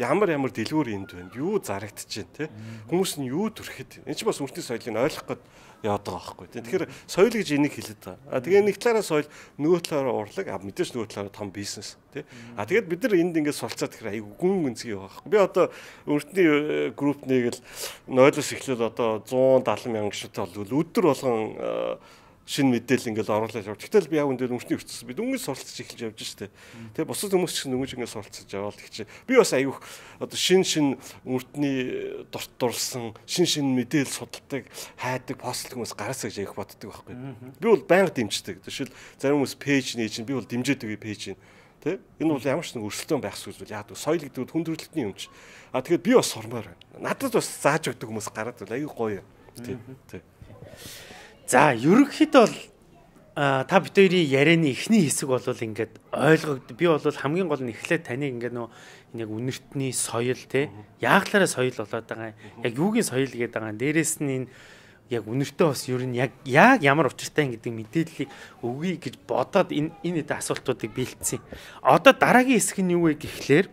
B: ямар дэлгүүр энд байна. Юу зарагдаж чинь тэ хүмүүс нь юу төрхэд. Энэ чинь бас үнэртний соёлыг ойлгох гээд яваад байгаа байхгүй. Тэгэхээр соёл гэж энийг хэлээд байгаа. Тэгээ нэг талаараа соёл, нөгөө талаараа урлаг, мэдээж нөгөө талаараа том бизнес, тий. Тэгээд бид нар энд ингээд суралцаад тэгэхээр айгүй гүн гүнзгий байгаа байхгүй. Би одоо өртний группнийг л 0-оос эхлээл одоо 170 мянган гишүүнтэй бол өдөр болгон шинэ мэдээлэл ингээд оруулаад явж. Гэтэл би яг энэ өртний ертөнцөөс би дөнгөж суралцж эхэлж явж штэ. Тэгээ бусад хүмүүс ч дөнгөж ингээд суралцж яваад гэж. Би бас айгүйх одоо шин өртний дурсан шин мэдээлэл судалдаг, хайдаг, постлог хүмүүс гараасаа гэж айх боддог байхгүй. Би бол байнга дэмждэг. Жишээл зарим хүмүүс пэйж нээж, би бол дэмжээдэг пэйж нь. Тэ? Энэ бол ямар ч нэг өрсөлдөөн байх зүйл яг соёл гэдэг хүн төрөлхтний юм чи. А тэгэхээр би бас сурмаар байна. Надад бас зааж өгдөг хүмүүс гараад айгүй гоё. Тэ.
A: За ерөнхийдөө бол та бид хоёрын ярианы эхний хэсэг бол ингээд ойлгогд. Би бол хамгийн гол нь эхлээд таныг ингээд нөө яг үнэртний соёл те яаглаараа соёл болоод байгаа. Яг юугийн соёл гэдэг байгаа. Дээрээс нь энэ яг үнэртээ бас ер нь яг ямар учиртай гэдэг мэдээллийг өгье гэж бодоод энэ асуултуудыг бэлдсэн. Одоо дараагийн хэсэг нь юу вэ гэхлээр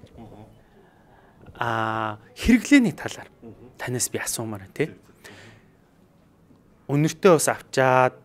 A: хэрэглээний талаар танаас би асуумаар байна те. Үнэртээ бас авчаад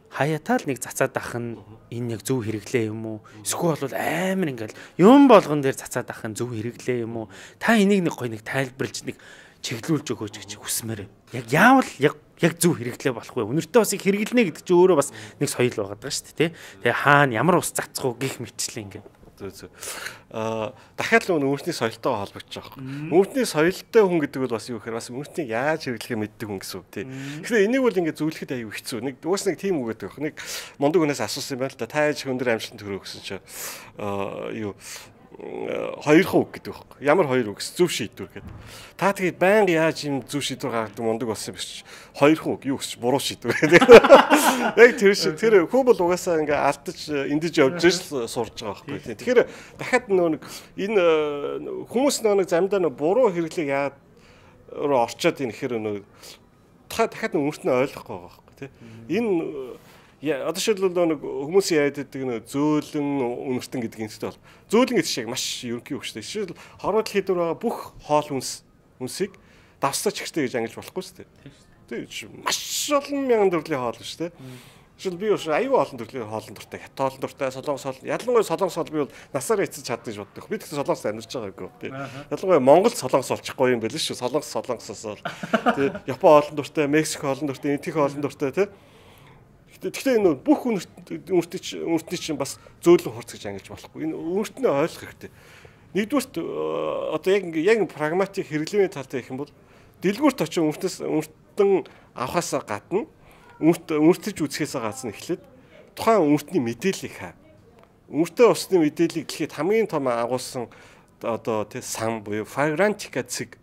A: хаяатаа л нэг цацаад ах нь энэ яг зөв хэрэглээ юм уу? Эсвэл бол амар ингээл юм болгон дээр цацаад ах нь зөв хэрэглээ юм уу? Та энийг нэг гоё нэг тайлбарлаж нэг чиглүүлж өгөөч гэж хүсмээр. Яг яавал яг зөв хэрэглээ болох вэ? Үнэртээ бас их хэрэглэнэ гэдэг чинь өөрөө бас нэг соёл байгаа даа шүү дээ, тий? Тэгээ хаана ямар ус цацах уу гэх мэтчлээ ингээд. Дахиад л үнэртний соёлтой холбогдож байгаа юм. Үнэртний соёлтой хүн гэдэг бол бас юу гэхээр бас үнэртнийг яаж хэрэглэхээ мэддэг хүн гэсэн үг тий. Тэгэхээр энийг бол ингээд зөвлөхөд аюу хэцүү. Нэг уус нэг тийм үг гэдэг. Нэг мундаг хүнээс асуусан юм байна л да. Та яаж өндөр амжилтанд хүрэх гэсэн чинь юу хоёр үг гэдэг байхгүй. Ямар хоёр үг зөв шийдвэр гэдэг. Та тэгээд байнга яаж юм зөв шийдвэр гаргадаг мундаг болсон биш. Хоёр үг юу гэж буруу шийдвэр гэдэг. Яг тэр хүн бол угаасаа ингээ алдаж эндэж явж сурж байгаа байхгүй. Тэгэхээр дахиад нэг энэ хүмүүс нэг замдаа буруу хэрэглээ яад руу орчоод ийн гэхээр дахиад үнэртнээ ойлгохгүй байгаа байхгүй тий. Энэ одоо шилбэл нэг хүмүүсийн яриад байдаг нэг зөөлөн үнэртэн гэдэг юмстай бол зөөлөн гэдэг шиг маш ерөнхий үг шүү дээ. Жишээл хорвоо дэлхийд байгаа бүх хоол үнсийг давсаач ихтэй гэж ангилж болохгүй шүү дээ. Тийм маш олон мянган төрлийн хоол шүү дээ.
B: Шил би ууш аюу олон төрлийн хоолн дуртай, хят хоолн дуртай, солонгос хоол. Ялангуяа солонгос хоол би бол насаараа эцэж чаддаг гэж боддог. Би тэгсэн солонгост амьдарч байгаагүй. Тий. Ялангуяа Монголд солонгос олчихгүй юм байл шүү. Солонгосоос бол тий Япон хоолн дуртай, Мексик хоолн дуртай, Энтих хоолн дуртай тий. Гэхдээ энэ бүх үнэртний чинь бас зөөлөн хурц гэж ангилж болохгүй. Энэ үнэртнээ ойлгох хэрэгтэй. Нэгдүгürt одоо яг прагматик хэрэглэмийн талтай гэх юм бол дэлгүүрт очиж үнэртэн авахаас гадна үнэртэж үзэхээс гадна эхлээд тухайн үнэртний мэдээллийг хаа. Үнэртэй усны мэдээллийг дэлхийд хамгийн том агуулсан одоо тий сан буюу Fragrantica цэг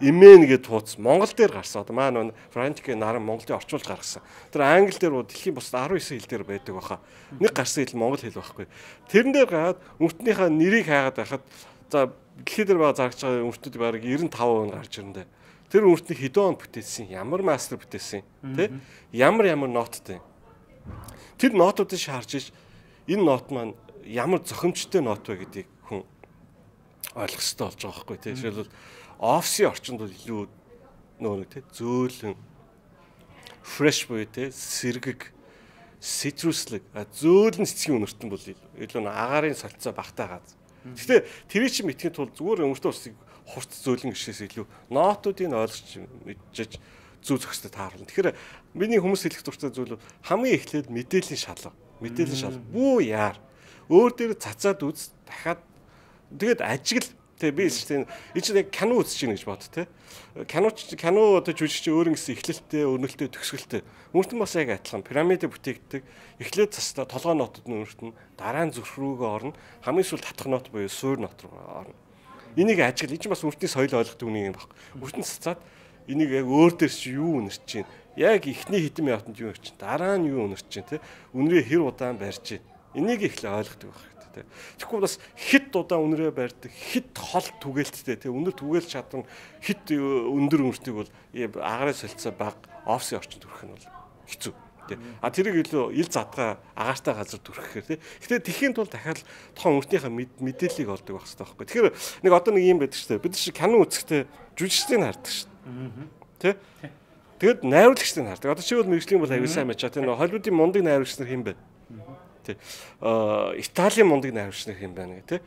B: Имэн гэдэг хуудас Монгол дээр гарсан. Одоо маань Fragrantica наран Монголын орчуулж гаргасан. Тэр англи дээр дэлхийн бусад 19 хэл дээр байдаг баха. Нэг гарсан хэл монгол хэл байхгүй. Тэрэн дээр гараад үнэртнийхээ нэрийг хаагаад байхад за дэлхий дээр байгаа зарагч байгаа үнэртүүд бараг 95% гарч ирэндээ. Тэр үнэртний хэдэн он бүтээсэн, ямар мастер бүтээсэн, тий? Ямар ноттой. Тэр нотуудыг шаарж иж энэ нот маань ямар зохимжтой нот вэ гэдгийг хүн ойлгох хэрэгтэй болж байгаа байхгүй тий. Жишээлбэл офисын орчинд бол илүү нөө тий зөөлөн fresh буюу тий сэргэг цитруслэг зөөлөн цэцгийн үнэртэн бол илүү агарын солилцоо багтаагаад. Гэхдээ тэр чинь мэдхийн тулд зүгээр өмөртөө усыг хурц зөөлөн гişээс илүү нотуудыг ойлгож мэдж зүү зохистой тааруулна. Тэгэхээр миний хүмүүс хэлэх дуртай зүйл хамгийн эхлээд мэдээллийн шалга. Бүү яар. Өөр дээр цацаад үз дахиад тэгээд ажигл Тэ би чинь яг кино үзэж байна гэж бод тэ. Кино одоо жүжигч өөр ингэсэн эхлэлтэй, өрнөлттэй, төгсгөлтэй. Үүртэн бас яг адилхан пирамидыг бүтээгддэг. Эхлээд цастаа толгой нотод нь өртөн, дараа нь зүрх рүүгээ орно. Хамгийн сүүл татах нот буюу суур нот руу орно. Энийг ажигл энэ чинь бас үртний соёл ойлгохдаг үнийг юм баг. Үртэн цацаад энийг яг өөр дээр чи юу үнэрч чинь. Яг эхний хэдэн минутанд юу өгч чинь. Дараа нь юу үнэрч чинь тэ. Үнрээ хэр удаан барьж чинь. Энийг их л ойлгохдаг баг. Тэгэхгүй бас хит удаан үнрээ барьдаг, хит хол түгээлттэй тий үнэр түгээлж чадна, хит өндөр үнэртийг бол агарын солилцоо баг офисын орчинд төрөх нь бол хэцүү тий. А тэрийг илүү ил задгаа агаартай газар төрөхөөр тий. Гэхдээ тэхийн тулд дахиад тохон үнэртнийхээ мэдээллийг олдог байх хэрэгтэй байхгүй. Тэгэхээр нэг одоо нэг юм байдаг шүү дээ. Бид чинь кино үзэхдээ жүжигчдийг хардаг шүү дээ. Тий. Тэгэд найруулагчдыг хардаг. Одоо чи бол мэрэгжлийн бол аягүй сайн мачаа тий. Холливуудын мундаг найруулагч нар хэм бэ? Италийн мундаг найруулагч нар хэм байна гэх тий.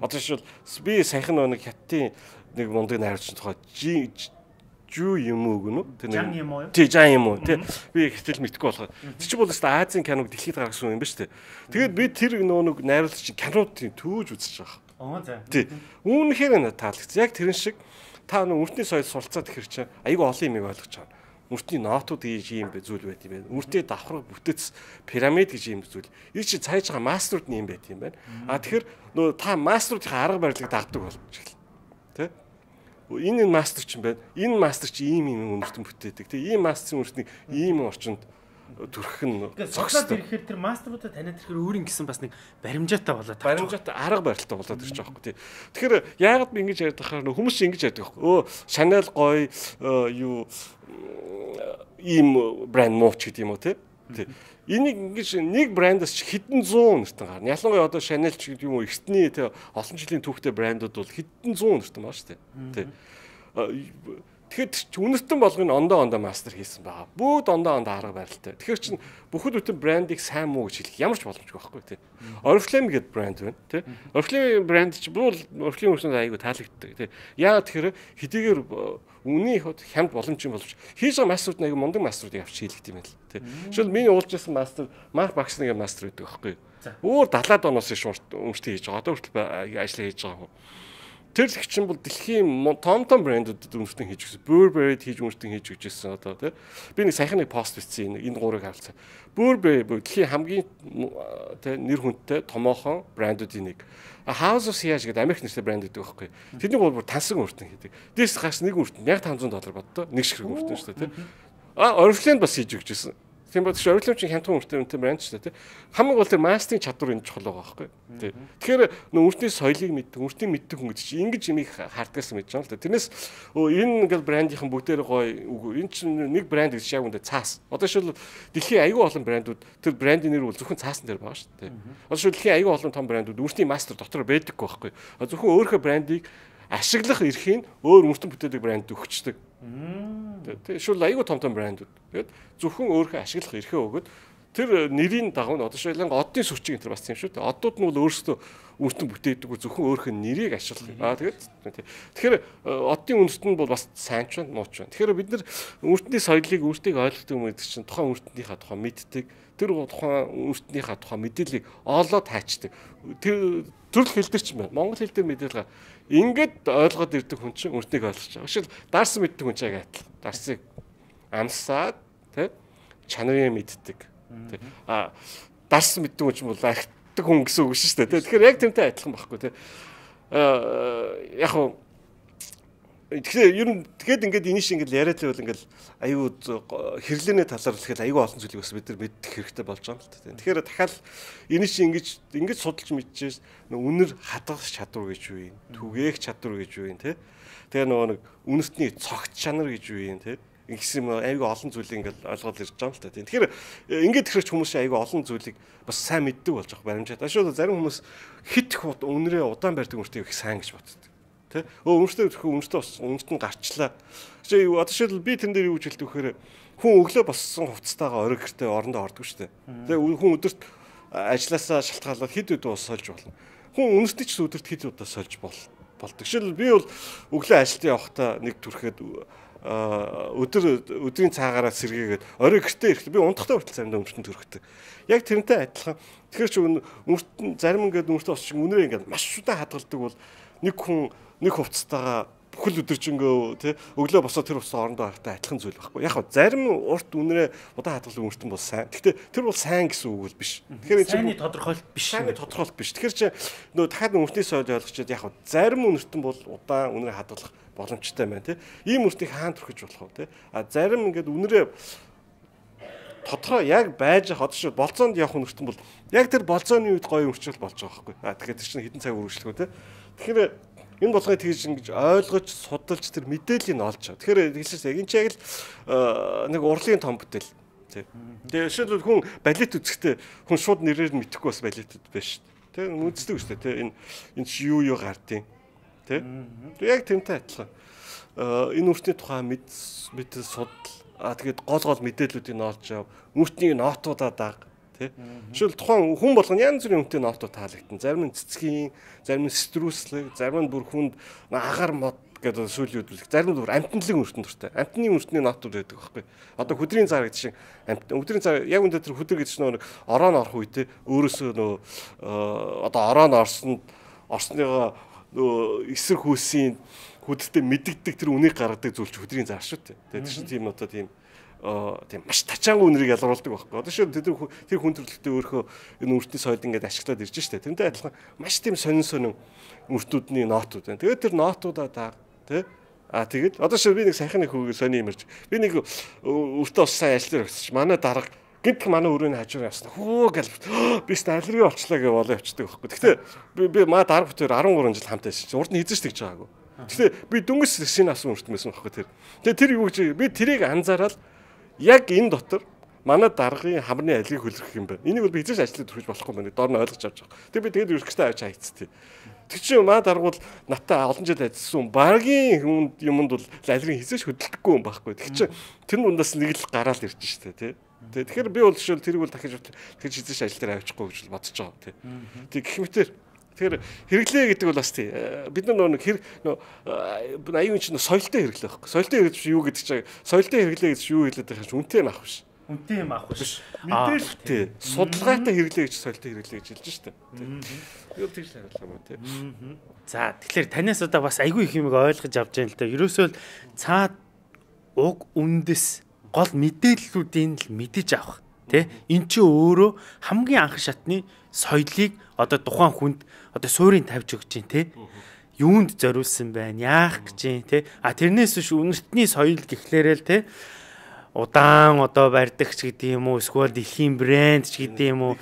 B: Одоо жишээл би саяхан нэг хятадын нэг мундаг найруулагч тухай Жу юм уу гэнэ?
A: Жан юм уу?
B: Тий, жан юм уу? Тий. Би ихтэл мэдгүй болохоор. Тэр чинь бол Азийн киног дэлхийд гаргасан юм ба шүү дээ. Тэгээд би тэр нэг найруулагч кинодын төвөж үзэж байгаа.
A: Оо за.
B: Тий. Үүнхээр таалагдсан. Яг тэрэн шиг та үртний соёл суралцаад ихэр чинь айгүй олон юмыг ойлгож байгаа. Үртний нотууд гэж юм бэ зүйл байт юм байна. Үртээ давхар бүтэц пирамид гэж юм зүйл. Энэ чинь цааж байгаа мастерууд нь юм байт юм байна. А тэгэхээр нөө та мастеруудын арга барилыг дагдаг болж эхэлнэ. Тэ? Энэ мастер ч юм байна. Энэ мастер чи ийм үнэртэн бүтээдэг. Тэ? Ийм мастерын үнэртнийг ийм орчинд төрөх нь
A: зогсоод ирэхээр тэр мастеруудаа таниад ирэхээр өөрийн гэсэн бас нэг баримжаатай болоод
B: баримжаатай арга барилтай болоод ирж байгаа байхгүй тий. Тэгэхээр яагаад би ингэж ярьдаг хахаар хүмүүс ингэж ярьдаг байхгүй. Chanel гоё юу ийм брэнд мууч гэдэг юм уу тий. Энийг ингэж нэг брэндээс ч хэдэн 100 нэртэн гарна. Ялангуяа одоо Chanel ч гэдэг юм уу эртний тий олон жилийн түүхтэй брэндүүд бол хэдэн 100 нэртэн байна шүү дээ. Тий. Тэгэхээр үнэртэн болгоны ондоо мастер хийсэн байгаа. Бүгд ондоо арга барилтай. Тэгэхээр чин бүхэл бүтэн брендийг сайн муу гэж хэлэх ямар ч боломжгүй байхгүй тий. Oriflame гэдэг брэнд байна тий. Oriflame брэнд чи бүр Oriflame хүмүүсд айгүй таалагддаг тий. Яагаад тэгэхээр хэдийгээр үнийн хот хямд боломжийн боловч хийж байгаа мастерууд айгүй мундаг мастеруудыг авч хийлгдэг юм байна л тий. Жишээл миний уулзсан мастер Марк Баксны мастер байдаг байхгүй. Өөр 70-аад оноос шуурт өмчтэй хийж байгаа. Одоо хүртэл ажил хийж байгаа. Тэр их чинь бол дэлхийн том брэндүүдэд үнэртэн хийж өгсөн. Burberry хийж үнэртэн хийж өгчээсэн одоо тий. Би нэг саяхан нэг пост бичсэн энэ гурыг харилцаа. Burberry дэлхийн хамгийн тий нэр хүндтэй томоохон брэндүүдийн нэг. House of Siage гэдэг Америк нэртэй брэнд гэдэг байхгүй. Тэдний гол бүр тансаг үнэртэн хийдэг. Дээс гаш нэг үнэртэн $500 боддоо. Нэг ширхэг үнэртэн шүү дээ тий. Oriflame бас хийж өгчээсэн. Тийм бод Oriflame чинь хямдхан үнэртэн брэнд шүү дээ тий. Хамгийн гол тэр мастерын чадвар энэ чухал байгаа байхгүй. Тий. Тэгэхээр үнэртний соёлыг мэддэг, үнэртний мэддэг хүн гэдэг чинь ингэж юмыг хардгаас мэдж байгаа л да. Тэрнээс энэ ингээл брендийнхэн бүгдээр гоё энэ чинь нэг брэнд гэж яг үндэ цаас. Одоо шил дэлхийн аюул олон брэндүүд тэр брендийн нэр бол зөвхөн цаасан дээр байгаа шүү дээ. Одоо шил дэлхийн аюул олон том брэндүүд үнэртний мастер дотор байдаггүй байхгүй. Зөвхөн өөрийнхөө брендийг ашиглах эрхийг өөр үнэртэн бүтээдэг брэнд өгчдөг. Тэгээ шил аюул том брэндүүд. Тэгээд зөвхөн өөрийнхөө ашиглах эрхээ өгөөд тэр нэрийн дагуу одоо шилэн оддын сүрчиг энэ бас тийм шүү дээ. Одууд нь бол өөрсдөө үнэртэн бүтээдэг зөвхөн өөрийнх нь нэрийг ашиглах. Тэгэхээр оддын үнэрт нь бол бас сайн ч нууч байна. Тэгэхээр бид нар үнэртний соёлыг өөртөө ойлгодог юм гэдэг чинь тухайн үнэртнийхээ тухай мэддэг. Тэр тухайн үнэртнийхээ тухай мэдээллийг олоод хайчдаг. Тэр төрөл хэл дээр ч юм байна. Монгол хэл дээр мэдээлэл ингээд ойлгоод ирдэг хүн чинь үнэртнийг ойлгож байгаа. Жишээл дарс мэддэг хүн чинь адил. Дарсыг амсаад тий чанарыг мэддэг. Дарс мэддэг хүн чинь бол архитектик хүн гэсэн үг шүү дээ. Тэгэхээр яг тэрнтэй адилхан байхгүй тий. Яг хөө тэгэхээр ер нь тэгэхэд ингээд энэ шиг ингээд яриад байвал ингээд аюу хэрлээний талаар тэгэхээр аюу олон зүйлийг бас бид нар мэдэх хэрэгтэй болж байгаа юм л та. Тэгэхээр дахиад энэ шиг ингэж судалж мэдчихээс үнэр хадгалах чадвар гэж юу юм? Түгээх чадвар гэж юу юм те? Тэгээ нөгөө нэг үнэртний цогц чанар гэж юу юм те? Ингэсэн аюу олон зүйлийг ингээд ойлгоод ирж байгаа юм л та. Тэгэхээр ингээд тэрч хүмүүс аюу олон зүйлийг бас сайн мэддэг болж байгаа баримжаад. Ашгүй зарим хүмүүс хит үнэрээ удаан барьдаг үнэртээ их сайн гэж боддог. Үнэртээ үнэртэн гарчлаа. Одоо шил би тэн дээр юу гэж хэлдэг вэхээр хүн өглөө боссон хувцастайгаа орой гэртээ орондоо ордог шүү дээ. Тэгээ хүн өдөрт ажилласаа шалтгаалаад хэд удаа сольж болно. Хүн үнэртний ч өдөрт хэд удаа сольж болдог. Жишээл би бол өглөө ажилд явахдаа нэг түрхэд өдрийн цаагаараа сэргээгээд орой гэртээ ирэхдээ би унтахтаа хүртэл заримдаа үнэртэн төрөхдөг. Яг тэрнтэй адилхан. Тэгэхээр ч үнэртэн зарим ингээд үнэртээ босч үнэрээ ингээд маш удаан хадгалдаг бол нэг хүн нэг хувцастайгаа бүхэл өдөржингөө тий өглөө босоод тэр хувцас орондоо харахтай адилхан зүйл байхгүй. Яг зарим урт үнэрээ удаан хадгалах үнэртэн бол сайн. Гэхдээ тэр бол сайн гэсэн үг бол биш. Тэгэхээр
A: сайнны тодорхойлолт биш.
B: Сайнны тодорхойлолт биш. Тэгэхээр чи нөө дахиад үнэртний соёл ойлгочод яг зарим үнэртэн бол удаан үнэрээ хадгалах боломжтой байна тий. Ийм үнэртнийг хаан төрөхөж болох уу тий. Зарим ингээд үнэрээ тодорхой яг байж одоо шиг болцоонд явах үнэртэн бол яг тэр болцооны үед гоё үрчил болж байгаа байхгүй. Тэгэхээр тэр чинь хэдэн цаг үргэлжлэх үү тий. Тэгэхээр энэ болгоё тэгж ингэж ойлгож судалж тэр мэдээллийг олж. Тэгэхээр хэлсэн яг энэ яг л нэг урлын том бүтээл тий. Тэгээ жишээлбэл хүн балет үзэхдээ хүн шууд нэрээр нь мэдэхгүй бас балетэд байна шүү дээ. Тэ үздэг шүү дээ тий. Энэ чи юу гардыг тий. Яг тэмтэй адилхан. Энэ үртний тухай мэдээ судал тэгээд гол мэдээллүүдийг олж ав. Үртнийг нотуудаа даг. Жишээл тухайн хүн болгоно янз бүрийн үнэтэй нотууд таалагдсан. Зарим нь цэцгийн, зарим нь стрүүслэг, зарим нь бүр хүнд агаар мод гэдэг сүйлүүдүүлэх. Зарим нь бүр амтналын үртэн төртэй. Амтны үртний нотууд байдаг байхгүй. Одоо хөдрийн цаар гэдэг шиг өдрийн цаар яг үндэ тэр хөдөр гэдэг чинь нэг ороон орох үедээ өөрөөсөө одоо ороон орсныгоо эсрэг хүүсийн хөдөлтөд мэддэгдэг тэр үнийг гаргадаг зүйл чинь хөдрийн цаар шүү дээ. Тэгээд чинь тийм одоо тийм маш тачаангуй үнэрийг ялруулдаг байхгүй. Одоо шүү тэр хүн төрлөختөө өөрөө энэ үртний соёл ингээд ашиглаад ирж штэ. Тэрнтэй адилхан маш тийм сонин үртүүдний нотууд байна. Тэгээд тэр нотуудаа даг тий. Тэгээд одоо шүү би нэг сайхан нэг хөвгөө сони юмэрч. Би нэг өртөө сайн ажиллаж өгсөж манай дарга гинт манай өрөөний хажуугаар явсан. Хөө гэл би аллерги болчлаа гэж болоо явчихдаг байхгүй. Гэхдээ би маа дарга бүтээр 13 жил хамтаа ажиллаж. Урд нь хийж тэгж байгаагүй. Гэхдээ би дүнгэс шинэ асан үртмэсэн байхгүй тэр. Тэгээд тэр юу гэж би тэрийг анзаараад яг энэ дотор манай даргын хамрын алийг хөлрөх юм байна. Энийг бол би хэзээ ажлыг төрөж болохгүй юм байна. Доор нь ойлгож авч байгаа. Тэгээ би тэгээд юрхтэй авч хайцтыг. Тэг чи маа дарга бол натаа олон жил ажилласан багийн юмд бол алирын хэзээ хөдөлдөггүй юм байхгүй. Тэг чи тэр нүндээс нэг л гараал ирж штэ тий. Тэгэхээр би бол жишээл тэрийг бол дахиж хэзээ ажил дээр авчихгүй гэж бодож байгаа тий. Тэг гэх мэтэр тэгэхээр хэрэглээ гэдэг бол бас тий. Бид нар нэг аюун чинь соёлтой хэрэглээ байхгүй. Соёлтой хэрэглэж юу гэдэг чинь соёлтой хэрэглээ гэж юу хэлээд байгаа юм үнтэй юм авах биш.
A: Үнтэй юм авах биш.
B: Мэдээлэлтэй, судалгаатай хэрэглээ гэж соёлтой хэрэглээ гэж хэлж штэ. Юу тэгж хариулах юм тий.
A: За тэгэхээр танаас удаа бас айгүй их юмыг ойлгож авч байгаа л да. Ерөөсөө л цаад уг үндэс гол мэдээллүүдийн л мэдэж авах тий. Эн чинь өөрөө хамгийн анх шатны соёлыг одоо тухайн хүнд одоо суурийг тавьж өгч чинь тий. Юунд зориулсан байна? Яах гэж чинь тий. Тэрнээс биш үнэртний соёл гэхлээрээ л тий. Удаан одоо барьдаг ч гэдэг юм уу, эсвэл дэлхийн брэнд ч гэдэг юм уу,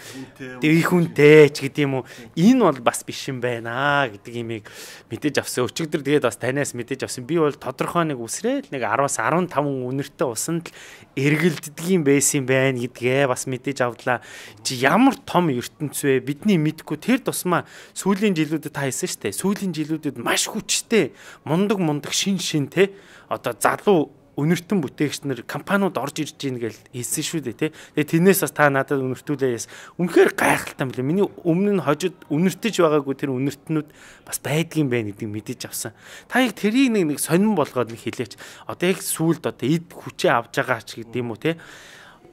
A: их хүнтэй ч гэдэг юм уу, энэ бол бас биш юм байна гэдэг имийг мэдээж авсан. Өчигдөр тэгээд бас танаас мэдээж авсан. Би бол тодорхой нэг үсрээл нэг 10-аас 15 үнэртэй усанд л эргэлддэг юм байсан байна гэдгээ бас мэдээж авдлаа. Чи ямар том ертөнц вэ? Бидний мэдгүй тэр тусмаа сүүлийн жилүүдэд та хэлсэн шүү дээ. Сүүлийн жилүүдэд маш хүчтэй, мундаг шин те одоо залуу өнөртөн бүтээгч нар компаниуд орж ирж гин гэж хэлсэн шүү дээ тий. Тэгээ тэрнээс бас та надад өнөртүүлээс үнэхээр гайхалтай юм лээ. Миний өмнө нь хожид өнөртөж байгаагүй тэр өнөртнүүд бас байдгийн байна гэдгийг мэдэж авсан. Та яг тэрийг нэг сонирн болгоод нэг хэлээч. Одоо яг сүулт одоо эд хүчээ авж байгаа ч гэдэг юм уу тий.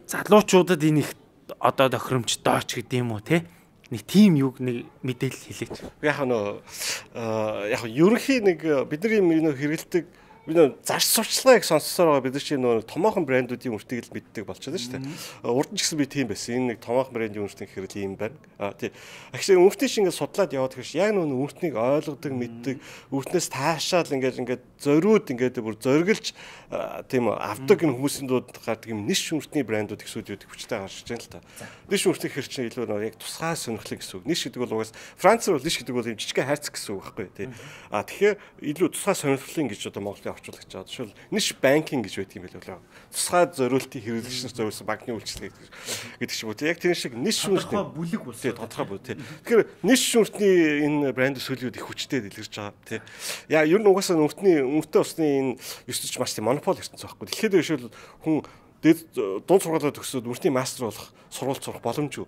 A: Залуучуудад энэ их одоо тохиромжтой ч гэдэг юм уу тий. Нэг тим юг нэг мэдээлэл хэлээч.
B: Яг яг ерөнхий нэг бидний энэ хэрэгэлдэг бид заш сурчлагыг сонссоор байгаа бид нар чинь нөгөө томоохон брэндүүдийн үртгийг л мэддэг болчихлоо шүү дээ. Урд нь ч гэсэн би тийм байсан. Энэ нэг томоохон брэндийн үртгийг хэрэг ийм байна. Тий. Actually үртийг шиг ингээд судлаад яваад гэвч яг нөгөө үртнийг ойлгодог, мэддэг, үртнээс таашаал ингээд зориуд ингээд бүр зориглж тийм авдаг энэ хүмүүсийн дууд гардаг юм ниш үртний брэндүүд их сүлүүд хүчтэй гарч иж байна л та. Ниш үртийг хэр чинь илүү нөгөө яг тусгай сонирхлыг гэсэн үг. Ниш гэдэг бол угаас Францаар бол ниш гэдэг бол юм жижиг хайрцаг гэсэн үг байхгүй тий. Тэгэхээр илүү тусгай сонирхлын гэж одоо Монголын орчуулагч байгаа. Жишээл ниш банкинг гэж байдаг юм байл болоо. Тусгай зориултын хэрэглэгчнэр зориулсан банкны үйлчлэг гэдэг шиг үү. Яг тэр шиг ниш
A: тодорхой бүлэг болсон.
B: Тий, тодорхой бүлэг тий. Тэгэхээр ниш үртний энэ брэнд сүлүүд их хүчтэй дэлгэрч байгаа тий. Яа ер нь угаасаа үртний усны энэ ёсч маш тийм монопол ертөнц байхгүй. Тэгэхэд жишээл хүн дунд сургуулиуд төгсөөд үртний мастер болох сургууль сурах боломжгүй.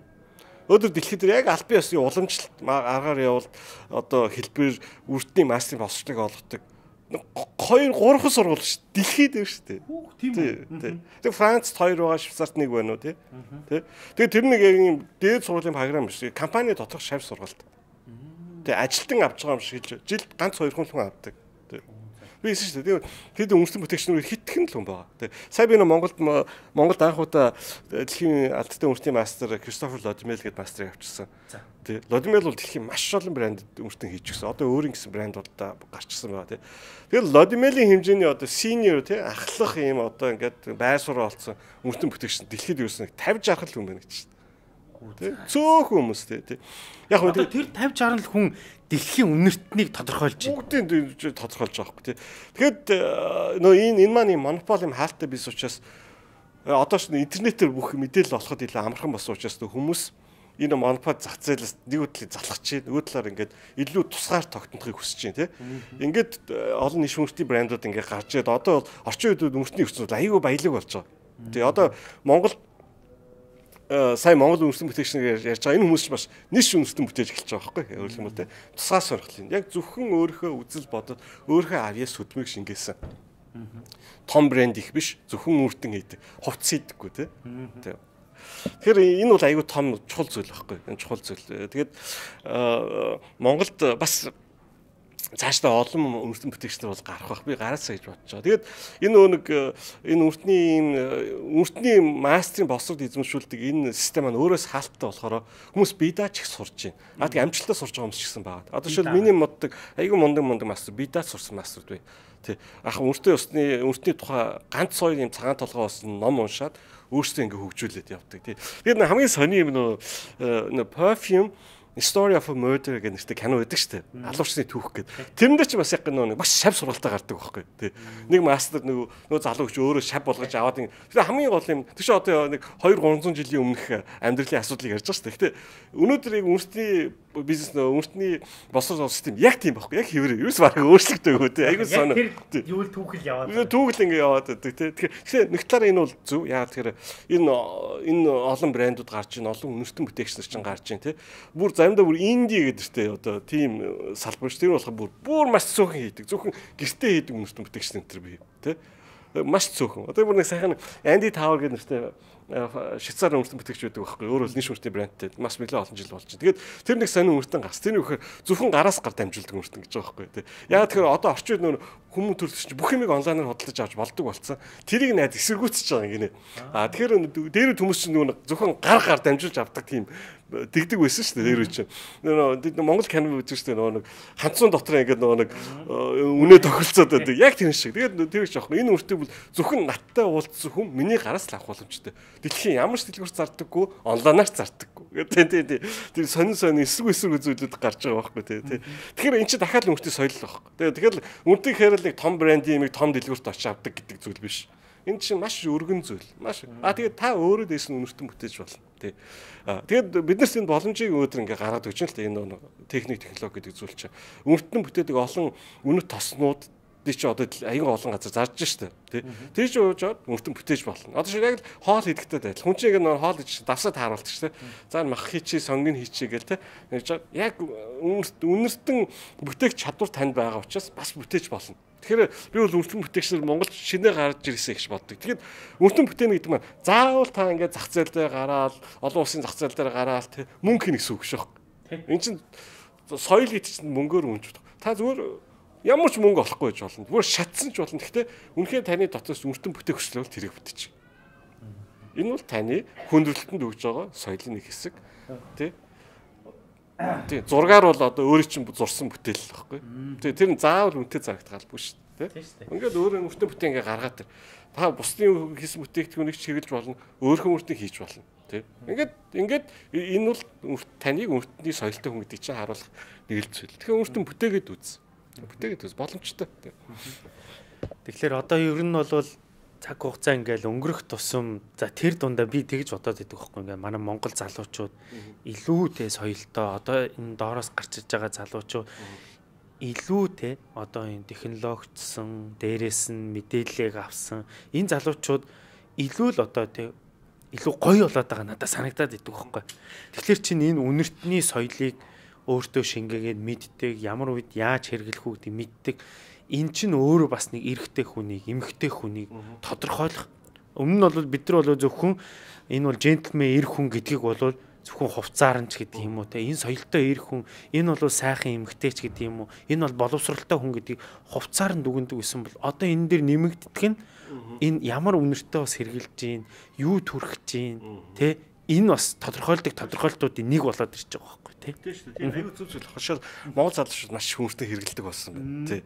B: Өдөр дэлхийд яг албан ёсны уламжлалт аргаар явал одоо хэлбэр үртний мастерын боловсролыг олгодог 2-3 сургууль ш. Дэлхийд дээр шүү дээ. Тийм үү. Тэгээ Францд 2 байгаа, Швейцарт 1 байна уу тий. Тэгээ тэр нэг яг юм дээд сургуулийн програм биш. Компани доторх шавь сургалт. Тэгээ ажилтан авч байгаа юм шиг жилд ганц 2 хүн авдаг. Би хэлсэн шүү дээ. Тэгээд үндэстэн бүтээгчнэр хитгэн л хүн байгаа. Сая би Монголд анх удаа дэлхийн алдартай үндэстэн мастер Кристофер Лодмел гэдэг мастерыг авчирсан. Тэ Лодмел бол дэлхийн маш олон брэнд үндэстэн хийж гисэн. Одоо өөрийн гэсэн брэнд болоо гарчсан байгаа тий. Тэгээд Лодмелийн хэмжээний одоо senior тий ахлах юм одоо ингээд байр сураа олцсон үндэстэн бүтээгч дэлхийд юусэн 50-60 хүн байна гэж шүү дээ. Цөөхөн хүмүүс тий. Яг
A: одоо тэр 50-60 хүн дэлхийн үнэртнийг тодорхойлж байна.
B: Бүгдийг тодорхойлж байгаа байхгүй тий. Тэгэхэд нөө энэ маань монопол юм хаалттай бис учраас одоо ч интернетээр бүх мэдээлэл олоход илүү амархан болсон учраас хүмүүс энэ монопол зах зээлээс нэг үтлийг залгах чинь нөгөө талаар ингээд илүү тусгаар тогтнохыг хүсэж байна тий. Ингээд олон ниш үнэртний брэндүүд ингээд гарч ирээд одоо бол орчин үед үнэртний ертөнцид аюу баялаг болж байгаа. Тий одоо Монгол сая Монгол үндэстэн бүтээгчнэр ярьж байгаа энэ хүмүүс ч бас ниш үндэстэн бүтээж эхэлж байгаа байхгүй юу юм бол тэ тусгай сонирхлын яг зөвхөн өөрийнхөө үзэл бодол өөрийнхөө авьяас хөдөлмөрийг шингээсэн том брэнд их биш зөвхөн үрдэн хийдэг хувцс хийдэггүй тэ тэгэхээр энэ бол аюу том чухал зүйл байхгүй энэ чухал зүйл тэгээд Монголд бас цаашдаа олон үндэстэн бүтээгчнэр бол гарах бах би гараасаа гэж бодож байгаа. Тэгээд энэ үртний мастрын боловсрол эзэмшүүлдэг энэ систем маань өөрөөс хаалттай болохоор хүмүүс бидаач их сурж байна. Тэгээд амжилттай сурж байгаа хүмүүс ч гэсэн байгаа. Одоо жишээл миний моддаг айгүй мундаг мастер бидаач сурсан мастерд бай. Тэ ах үртний тухай ганц хоёр юм цагаан толгой болсон ном уншаад өөрсдөө ингээ хөгжүүлээд явдаг. Тэгээд хамгийн сони юм нөө perfume Story of a Murder гэх нэртэй кино байдаг шүү дээ. Алуурчны түүх гэдэг. Тэрэндээ ч бас яг нэг маш шав сургалтаа гардаг байхгүй. Тэ. Нэг мастер нөгөө залуу гэж өөрөө шав болгож аваад тэгээ хамгийн гол юм. Тэш одоо нэг 2-300 жилийн өмнөх амьдралын асуудлыг ярьж байгаа шүү дээ. Гэтэ өнөөдөр яг үнэртний бизнес үнэртний босрол систем яг тийм байхгүй. Яг хэвээр ерөөс бараг өөрчлөгдөв гоо тэ. Айгуу соно.
A: Юу л түүхэл яваад.
B: Түүхэл ингээ яваад байдаг тэ. Тэгэхээр нэг талаараа энэ бол зөв. Яагаад тэгэхээр энэ олон брэндүүд гарч ийн олон үнэртэн бүтээгчнэр чинь гарч ийн тэ. Бүр заримдаа бүр инди гэдэртэй одоо тийм салбар ш. Тэр болохоор бүр маш цөөхөн хийдэг. Зөвхөн гэртээ хийдэг үнэртэн бүтээгчнэр энэ бий тэ. Маш цөөхөн. Одоо бүр нэг сайхан Andy Tower гэдэг нэртэй Швейцар үнэртэн бүтээгч байдаг байхгүй. Өөрөө л ниш үнэртний брэндтэй маш нэлээд олон жил болж байна. Тэгээд тэр нэг сонин үнэртэн гарс. Тэр нь вөхөр зөвхөн гараас гар дамжуулдаг үнэртэн гэж байгаа байхгүй. Яагаад тэгэхээр одоо орчин үед нөр хүмүүс төрөлч бүх юмыг онлайнаар худалдаж авч болдог болсон. Тэрийг найд эсэргүүцэж байгаа юм гинэ. Тэгэхээр дээр хүмүүс чинь зөвхөн гар дамжуулж авдаг тийм дэгдэг байсан шүү дээ дээр үчи. Монгол кино үзэж шүү дээ нэг ханцуун дотор ингээд нэг үнэ тохиролцоод байдаг. Яг тэр шиг. Тэгээд тэр их жоох. Энэ үртэг бол зөвхөн надтай уулзсан хүн миний гараас л авах боломжтой. Дэлхийн ямар ч дэлгүүрт зардаггүй, онлайнаар зардаггүй. Тэр сонин эсрэг зүйлүүд гарч байгаа байхгүй тий. Тэгэхээр эн чинь дахиад үртний соёл л байхгүй. Тэгэхээр үртний хэрэг нэг том брендийн нэг том дэлгүүрт очиж авдаг гэдэг зүйл биш. Энэ чинь маш өргөн зүйл. Маш. Тэгээд та өөрөө дээш нь үнэртэн бүтээж болно. Тий. Тэгээд биднээс энэ боломжийг өөдөр ингээ гаргаад өгч л энэ техник технологи гэдэг зүйл чинь үнэртэн бүтээдэг олон үнэт тоснууд тий чи одоо аян олон газар зарж штэ тий. Тэр чи ууж аваад өртөн бүтээж болно. Одоо шиг яг л хоол хийдэгтэй байл. Хүн чинь нэг хоол хийж давсаа тааруулдаг штэ. За мах хийчи сонгийн хийчи гээл тий. Яг үнэртэн бүтээх чадвар танд байгаа учраас бас бүтээж болно. Тэгэхээр би бол өртөн бүтээгчнэр Монголд шинээр гарч ирсэн гэж боддог. Тэгэхээр өртөн бүтээнэ гэдэг маань заавал та ингээд зах зээл дээр гараад олон улсын зах зээл дээр гараад тий мөнгө хийнэ гэсэн үг шүү. Энд чинь соёл гэдэг чинь мөнгөөр үнж болох. Та зүгээр ямар ч мөнгө олохгүй гэж болно. Зүгээр шатсан ч болно. Гэхдээ үнэхээр таны дотоос өртөн бүтээх хүсэл бол тэрийг бүтээж. Энэ бол таны хүндрэлтэнд өгж байгаа соёлын нэг хэсэг тий. Тий зургаар бол одоо өөрөө чинь зурсан бүтээл л байхгүй. Тий тэр нь заавал үнэтэй зарагдгалгүй шүү дээ. Ингээд өөрөө өртөн бүтээн ингээ гаргаад та бусдын хийсэн бүтээгдэхүүнийг чиглэж болно. Өөрхөн өртөнд хийж болно. Тий. Ингээд энэ бол таныг өртөний соёлтой хүн гэдэг чинь харуулах нэг л зүйл. Тэгэхээр өртөн бүтээгээд үз. Бүтээгээд үз боломжтой.
A: Тэгэхээр одоо ер нь бол цаг хугацаа ингээл өнгөрөх тусам за тэр дундаа би тэгж бодоод байдаг байхгүй ингээ манай Монгол залуучууд илүүтэй соёлтой одоо энэ доороос гарч иж байгаа залуучууд илүүтэй одоо энэ технологичсон дээрээс нь мэдээллийг авсан энэ залуучууд илүү л одоо тэг илүү гоё болоод байгаа надад санагдаад идэв байхгүй. Тэгэхээр чинь энэ үнэртний соёлыг өөртөө шингээгээд мэддэг ямар үед яаж хэрэглэх үү гэдэг мэддэг. Эн чинь өөрөө бас нэг эрэгтэй хүнийг, эмэгтэй хүнийг тодорхойлох. Өмнө нь бол бид нар бол зөвхөн энэ бол джентльмен эрх хүн гэдгийг бол зөвхөн хувцаар нь ч гэдэг юм уу те. Энэ соёлтой эрх хүн, энэ бол сайхан эмэгтэй ч гэдэг юм уу. Энэ бол боловсралтай хүн гэдгийг хувцаар нь дүгндэг гэсэн бол одоо энэ дээр нэмэгддэг нь энэ ямар үнэртэй бас хэрглэж гин, юу төрөх гин те. Энэ бас тодорхойлолтуудын нэг болоод ирж байгаа байхгүй те.
B: Тийм шүү дээ. Тийм аюу зүг зүйл хашаал Монгол залуучууд маш хүнстэй хэргэлдэг болсон байна те.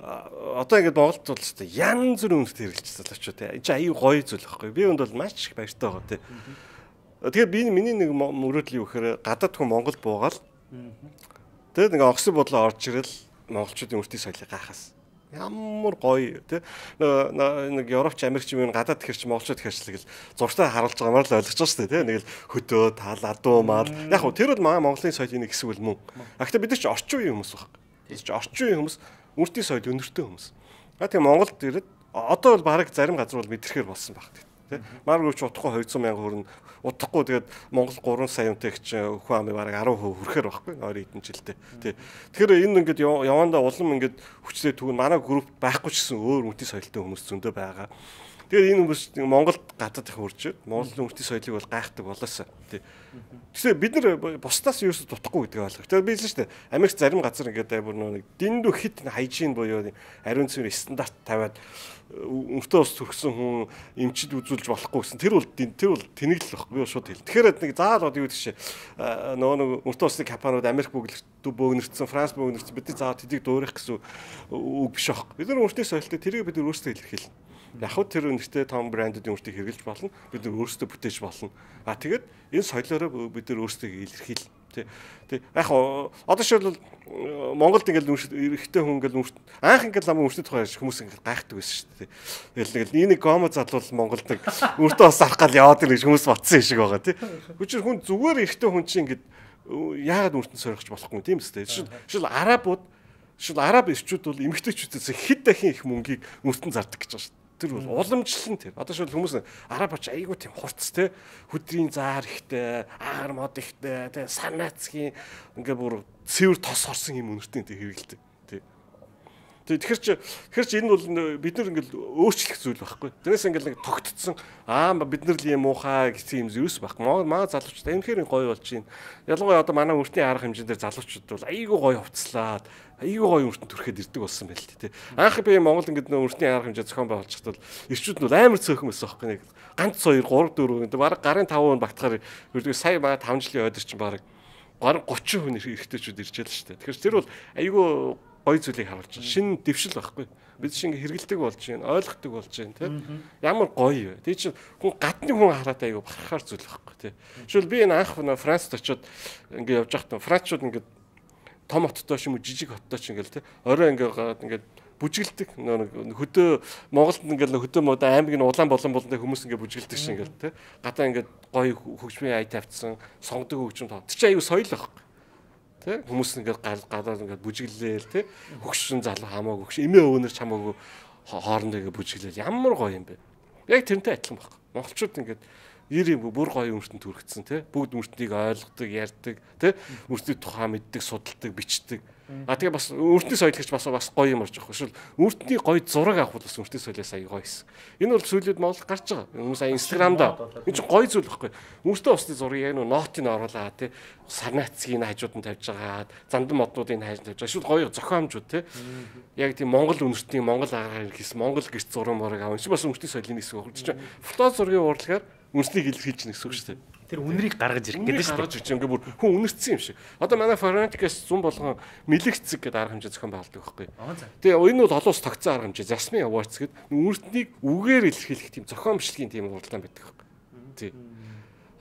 B: Одоо ингээд Монголд бол ч янз бүрийн үнэтэй хэрэгжилж залуучууд те. Энд чинь аюу гоё зүйл байхгүй. Би өнд бол маш их баяртай байгаа те. Тэгэхээр миний нэг мөрөөдөл юу гэхээр гадаад хүн Монгол буугаал. Тэгээд нэг огсын бодлоо орж ирэл монголчуудын үртийн соёлыг гайхаас. Ямар гоё те. Нэг Европч Америкч юм гадаад ихэрч монголчууд ихэрчлэг л зургатаа харуулж байгаагаар л ойлгож байгаа шүү дээ те. Нэг л хөдөө тал адуу мал. Яг хөө тэр бол Монголын соёлын нэг хэсэг бол мөн. Гэхдээ бид нар ч орчин үеийн хүмүүс баг. Бид ч орчин үеийн хүмүүс үртийн соёл өнөртэй хүмүүс. Тэгээ Монголд ирээд одоо бол бараг зарим газар бол мэдрэхээр болсон баг те. Маргууч утахгүй 200 сая хүрнэ. Утахгүй тэгээд Монгол 3 сая үнэтэй гэж хүн амын бараг 10% хүрэхээр байхгүй ойрын хэдэн жилдээ. Тий. Тэгэхээр энэ ингээд явандаа улам ингээд хүчлээ түгэн манай групп байхгүй ч гэсэн өөр үнэтэй соёлтой хүмүүс зөндөө байгаа. Тэгээд энэ хүмүүс Монголд гадаад их үрж Монголын үнэтэй соёлыг бол гайхдаг болоосаа. Тий. Тэгэхээр бид нар бусдаас юусо дутахгүй гэдгийг ойлгох. Тэгээд би хэлсэн шүү дээ. Америк зарим газар ингээд бүр нэг дэндүү хит хайжин буюу ариун цэвэр стандарт тавиад өмтөө ус төрсөн хүн эмчид үзүүлж болохгүй гэсэн. Тэр бол тэнэглэл баг. Би шууд хэл. Тэгэхээр нэг заавал юу гэдэг чинь нөгөө өмтөө усны компаниуд Америк бөөгнөрсөн, Франц бөөгнөрсөн бидний заавал тэдийг дуурайх гэсэн үг биш баг. Бид нар өөртөө соёлтой тэрийг бид нар өөрсдөө илэрхийлнэ. Яг хөө тэр үнэтэй том брендүүдийн үртийг хэрэглэж болно. Бид нар өөрсдөө бүтээж болно. Тэгээд энэ соёлоороо бид нар өөрсдөө илэрхийлнэ. Тэг. Яг одоо шил Монголд ингээл эрэгтэй хүн ингээл анх ингээл намайг өртөд тухай хүмүүс ингээл гайхдаг байсан шүү дээ. Тэгэл нэг гомо залуул Монголд нэг өртөө бас арах гал яваад ирэх хүмүүс батсан шиг байгаа тий. Хүчээр хүн зүгээр эрэгтэй хүн чинь ингээд яагаад өртөнд сорихч болохгүй тийм үстэй. Шил араб ирчүүд бол эмэгтэйчүүдээс хэд дахин их мөнгийг өртөнд зардаг гэж байгаа шүү. Тэр бол уламжлал нь тэр. Одоо шил хүмүүс арабч айгуу тийм хурц те хөдрийн заар ихтэй, аар мод ихтэй, те санаацгийн ингээ бүр цэвэр тос орсон юм үнэртэй те хэрэгэлдэг. Тэгэхээр чи энэ бол бид нар ингээл өөрчлөх зүйл байхгүй. Тэрнээс ингээл нэг тогтцсон бид нар л юм уухай гэх юм зүйлс байхгүй. Маа залуучууд амирхээр гоё болж байна. Ялангуяа одоо манай өртний арга хэмжээндээр залуучууд бол айгүй гоё хувцлаад айгүй гоё өртөнд төрөхөд ирдэг болсон байл л тий. Анх би Монгол ингээд өртний арга хэмжээ зохион байгуулж хатвал ирчүүд нь амар цөөхөн байсан байхгүй. Нэг ганц 2 3 4 гэдэг бараг гарын 5% багтахаар сая 5 жилийн ойдор чинь бараг 30 хүн эрэгтэйчүүд ирж байлаа шүү дээ. Тэгэхээр тэр бол айгүй гоё зүйлийг харуулж байна. Шинэ дэвшил байхгүй. Бид чинь хэрэгэлдэг болж байна, ойлгохдаг болж байна, тийм. Ямар гоё вэ? Тэгээ чинь хүн гадны хүн хараад айгүй бахархаар зүйл байхгүй, тийм. Жишээл би энэ анх Францд очиод ингээд явж байхдаа Францчууд ингээд том хоттой ч юм уу жижиг хоттой ч ингээл тийм. Орой ингээд бүжгэлдэг хөдөө Монголд ингээл хөдөө мод аймаг нь улаан болон хүмүүс ингээд бүжгэлдэг шиг ингээл тийм. Гадаа ингээд гоё хөгжмийн ая тавьдсан, сонгодог хөгжим тоо. Тэр чинь айгүй соёл байхгүй. Тэ хүмүүс ингээд гадаад ингээд бүжиглээл тэ хөгшин залуу хамаагүй хөгш эмээ өвнөр ч хамаагүй хоорондоо ингээд бүжиглээл ямар гоё юм бэ. Яг тэрнтэй адилхан баг. Монголчууд ингээд 90 бүр гоё өмөртөнд төрөгдсөн тий. Бүгд өмөртнийг ойлгодог, ярьдаг тий. Өмөртний тухай мэддэг, судалдаг, бичдэг. Тэгээ бас өмөртний соёлогч бас гоё юм орж байгаа. Эсвэл өмөртний гоё зураг авах бол бас өмөртний соёлоос аяа гоё хэсэг. Энэ бол сүүлийн Монгол гарч байгаа. Хүмүүс аяа Instagram-да энэ чинь гоё зүйл байхгүй. Өмөртөө усны зургийг яг нотыг оруулаад тий. Сарнацгийн хажууд нь тавьж байгаа. Зандан моднуудын хажууд тавьж байгаа. Эсвэл гоё зохиомжууд тий. Яг тийм Монгол өмөртний Монгол агаар хийсэн Монгол гэрч зураг морыг авах. Энэ бас өмөртний соёлын хэсэг байна. Чи фото зургийн урлагаар үнснийг илэрхийлж нэг гэсэн үг шүү дээ. Тэр үнрийг гаргаж ирэх гэдэг шүү дээ. Гаргаж ирж ингээ бүр хүн үнэрсэн юм шиг. Одоо манай Forensic-ээс зүүн болгон мэлэгцэг гэдэг арга хэмжээ зохион байгуулдаг байхгүй. Тэгээ энэ бол олон улс тогтсон арга хэмжээ. Jasmine Awards гэдэг үнэртнийг үгээр илэрхийлэх тийм зохион бичлэгийн тийм уралдаан байдаг байхгүй. Тий.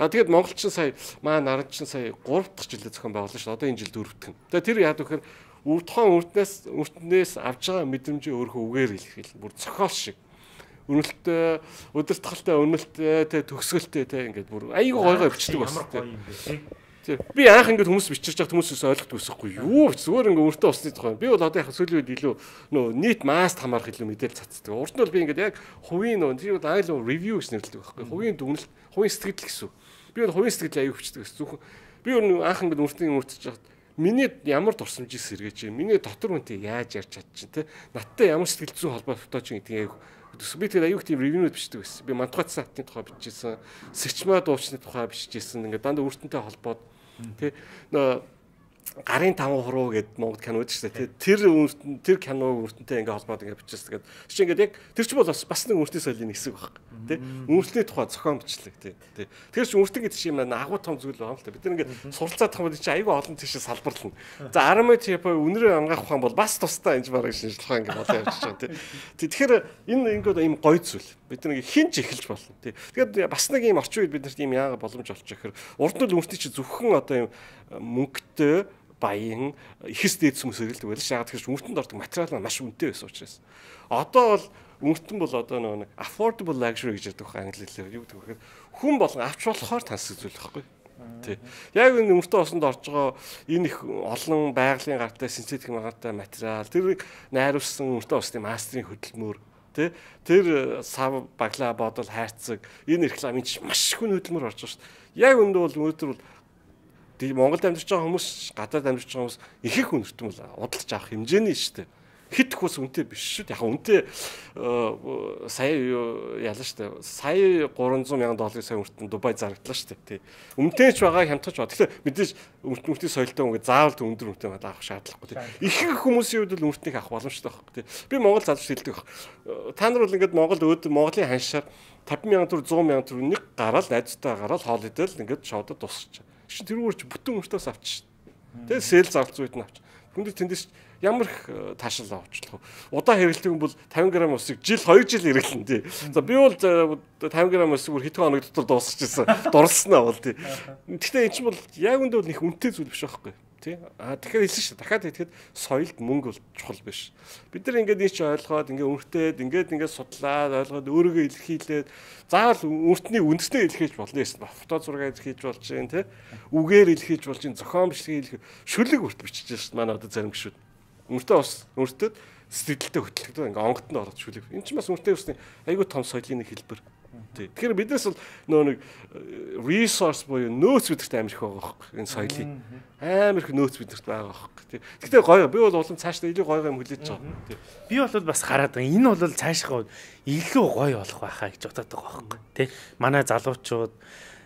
B: Тэгээд монголчин сая маань наранчин сая 3 дахь жилдээ зохион байгуулсан шүү дээ. Одоо энэ жил 4 дахь. Тэгээ тэр яад вэхээр тухайн үртнээс авж байгаа мэдрэмжээ өөрөө үгээр илэрхийлнэ. Бүр зохиол шиг. Үнэлттэй, удирдахалтай, үнэлттэй, төгсгөлтэй те ингээд бүр айгүй гой бичдэг бас. Би анх ингээд хүмүүс бичиж байхад хүмүүсээс ойлгохгүй байсахгүй юу зүгээр ингээд өөртөө усны тухай. Би бол одоо яг сүүлийн үед илүү нөө нийт масс хамаарах илүү мэдээлэл цацдаг. Урд нь бол би ингээд яг хувийн нөө тэр айл ревю гэж нэрлэдэг байхгүй. Хувийн дүгнэлт, хувийн сэтгэл гэсэн. Би бол хувийн сэтгэл аягүй бичдэг гэсэн. Зөвхөн би анх ингээд өөртөө өөртөж байхад миний ямар дурсамжийг сэргээж, миний дотор үнтэй яаж ярьж чадчих те. Надтай ямар сэтгэл зүйн холбоотой ч гэдэг би тэгээд аюух тийм ревюнууд бичдэг байсан. Би Мантугай саатны тухай бичижсэн, Сэрчмаа дуучны тухай бичижсэн. Ингээд дандаа өөртөнтэй холбоод тий гарын 5 хуруу гэдэг Монгол кинод шүү дээ. Тэр киног өөртөнтэй ингээд холбоод ингээд бичижсэн. Тэгээд чи ингээд яг тэр ч бол бас нэг өөртний соёлын хэсэг баг. Тий өөртний тухай зохион бичлэг тий. Тэр чи өөртөө гэдэг чинь агуу том зүйл байна л та. Бид нэг ингээд суралцаад тахад чи аюу олон тийшээ салбарлана. За 10 типа үнрээ ангаах ухаан бол бас тусдаа энэ бараг шинжилгээ ингээд болоо явж байгаа тий. Тэгэхээр энэ ингээд ийм гоё зүйл. Бид нэг хинж эхэлж болно тий. Тэгэхээр бас нэг ийм орчин үед биднэрт ийм яага боломж олчих гэхээр урд нь өөртөө чи зөвхөн одоо ийм мөнгөтэй баян ихэс дээд хүмүүс хэрэгэлдэг байлаа. Шаагаад тэгэхээр өмөртөнд ордог материал маш үнэтэй байсан учраас. Одоо бол өмөртөн бол одоо нэг affordable luxury гэж яддаг англи хэлээр юу гэдэг вэ? Хүн болгон авч болохоор тансаг зүйл байхгүй. Тий. Яг энэ өмөртөө осонд орж байгаа энэ их олон байгалийн гартай синтетик магатай материал тэр найруулсан өмөртөө осны мастерын хөдөлмөр тий. Тэр сав баглаа бодол хайрцаг энэ рекламын маш их хөдөлмөр орж байгаа шүү дээ. Яг өндөө бол өнөөдөр бол Монголд амьдарч байгаа хүмүүс, гадаад амьдарч байгаа хүмүүс их их үнэртэн бол удалж авах хэмжээний шүү дээ. Хит хус үнэтэй биш шүү дээ. Яг үнэтэй сая ялаа шүү дээ. Сая $300,000 сая үнэртэн Дубай зарагдлаа шүү дээ. Тий. Үнэтэй ч байгаа хямдхан ч байгаа. Тэгэхээр мэдээж үнэртний соёлтой ингээд заавал өндөр үнэтэй авах шаардлагагүй. Тий. Их хүмүүсийн хувьд бол үнэртнийг авах боломжтой байхгүй. Тий. Би Монгол залууч хэлдэг баг. Та нар бол ингээд Монголын ханшаар 50,000 төгрөг 100,000 төгрөг нэг гараал найзтай гараал хоол идэл ингээд шоудад дуусчих. Тэр үүрч бүтэн өмөртөөс авчих. Тэгээ сэл зарц үйд нь авчих. Хүнд тэндээс ямар их таашаал авчлах вэ? Удаа хэрэглэдэг юм бол 50 г усыг 2 жил хэрэглэн тий. За би бол 50 г усыг бүр хэдэн хоног дотор дуусчихсан. Дурлснаа бол тий. Гэхдээ эн чинь бол яг үндэ бол их үнэтэй зүйл биш байхгүй. Тий. Тэгэхээр хэлсэн шүү. Дахиад хэлэхэд соёлд мөнгө бол чухал биш. Бид нар ингээд ийч ойлгоод ингээд үнэтэй судлаад ойлгоод өөрийгөө илэрхийлээд заавал үнэтний үндэснээ илэрхийлж болно гэсэн. Фото зураг илэрхийлж болж гин тий. Үгээр илэрхийлж болж гин зохион бичлэгийг шүлэг үрт бичиж шээ. Манай одоо зарим гişүүд. Үнэтэй бас өөртөө сэтгэлдээ хөтлөгдөв. Ингээд онготонд ороод шүлэг. Энд чинь бас үнэтэй усны айгүй том соёлын нэг хэлбэр. Тэгэхээр биднээс бол нэг resource буюу нөөц бидэрт амар их байгаа байхгүй энэ соёлын амар их нөөц бидэрт байгаа байхгүй. Гэхдээ гоё би бол улам цаашдаа илүү гоё юм хүлээж байгаа. Би бол бас хараад байгаа. Энэ бол цаашгаа илүү гоё болох байхаа гэж бодоод байгаа байхгүй. Тэ манай залуучууд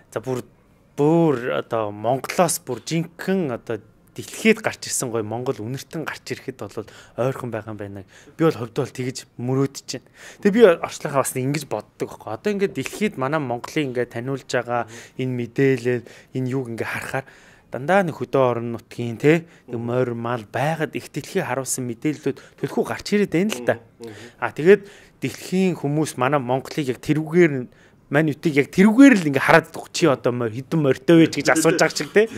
B: за бүр одоо Монголоос бүр жинхэнэ одоо дэлхийд гарч ирсэн гоё Монгол үнэртэн гарч ирэхэд бол ойрхон байгаа юм байна. Би бол хувьд бол тэгж мөрөөдөж байна. Тэгээ би орчлохоо бас ингэж боддог байхгүй. Одоо ингээд дэлхийд манай Монголыг ингээд таниулж байгаа энэ мэдээлэл энэ юуг ингээд харахаар дандаа нэг хөдөө орон нутгийн те морь мал байгаад их дэлхий харуулсан мэдээллүүд төлхөө гарч ирээд байна л да. Тэгээд дэлхийн хүмүүс манай Монголыг яг тэрүүгээр мань үтийг яг тэрүүгээр л ингээ хараад чи одоо хэдэн морьтой вэ гэж асууж байгаа шиг те.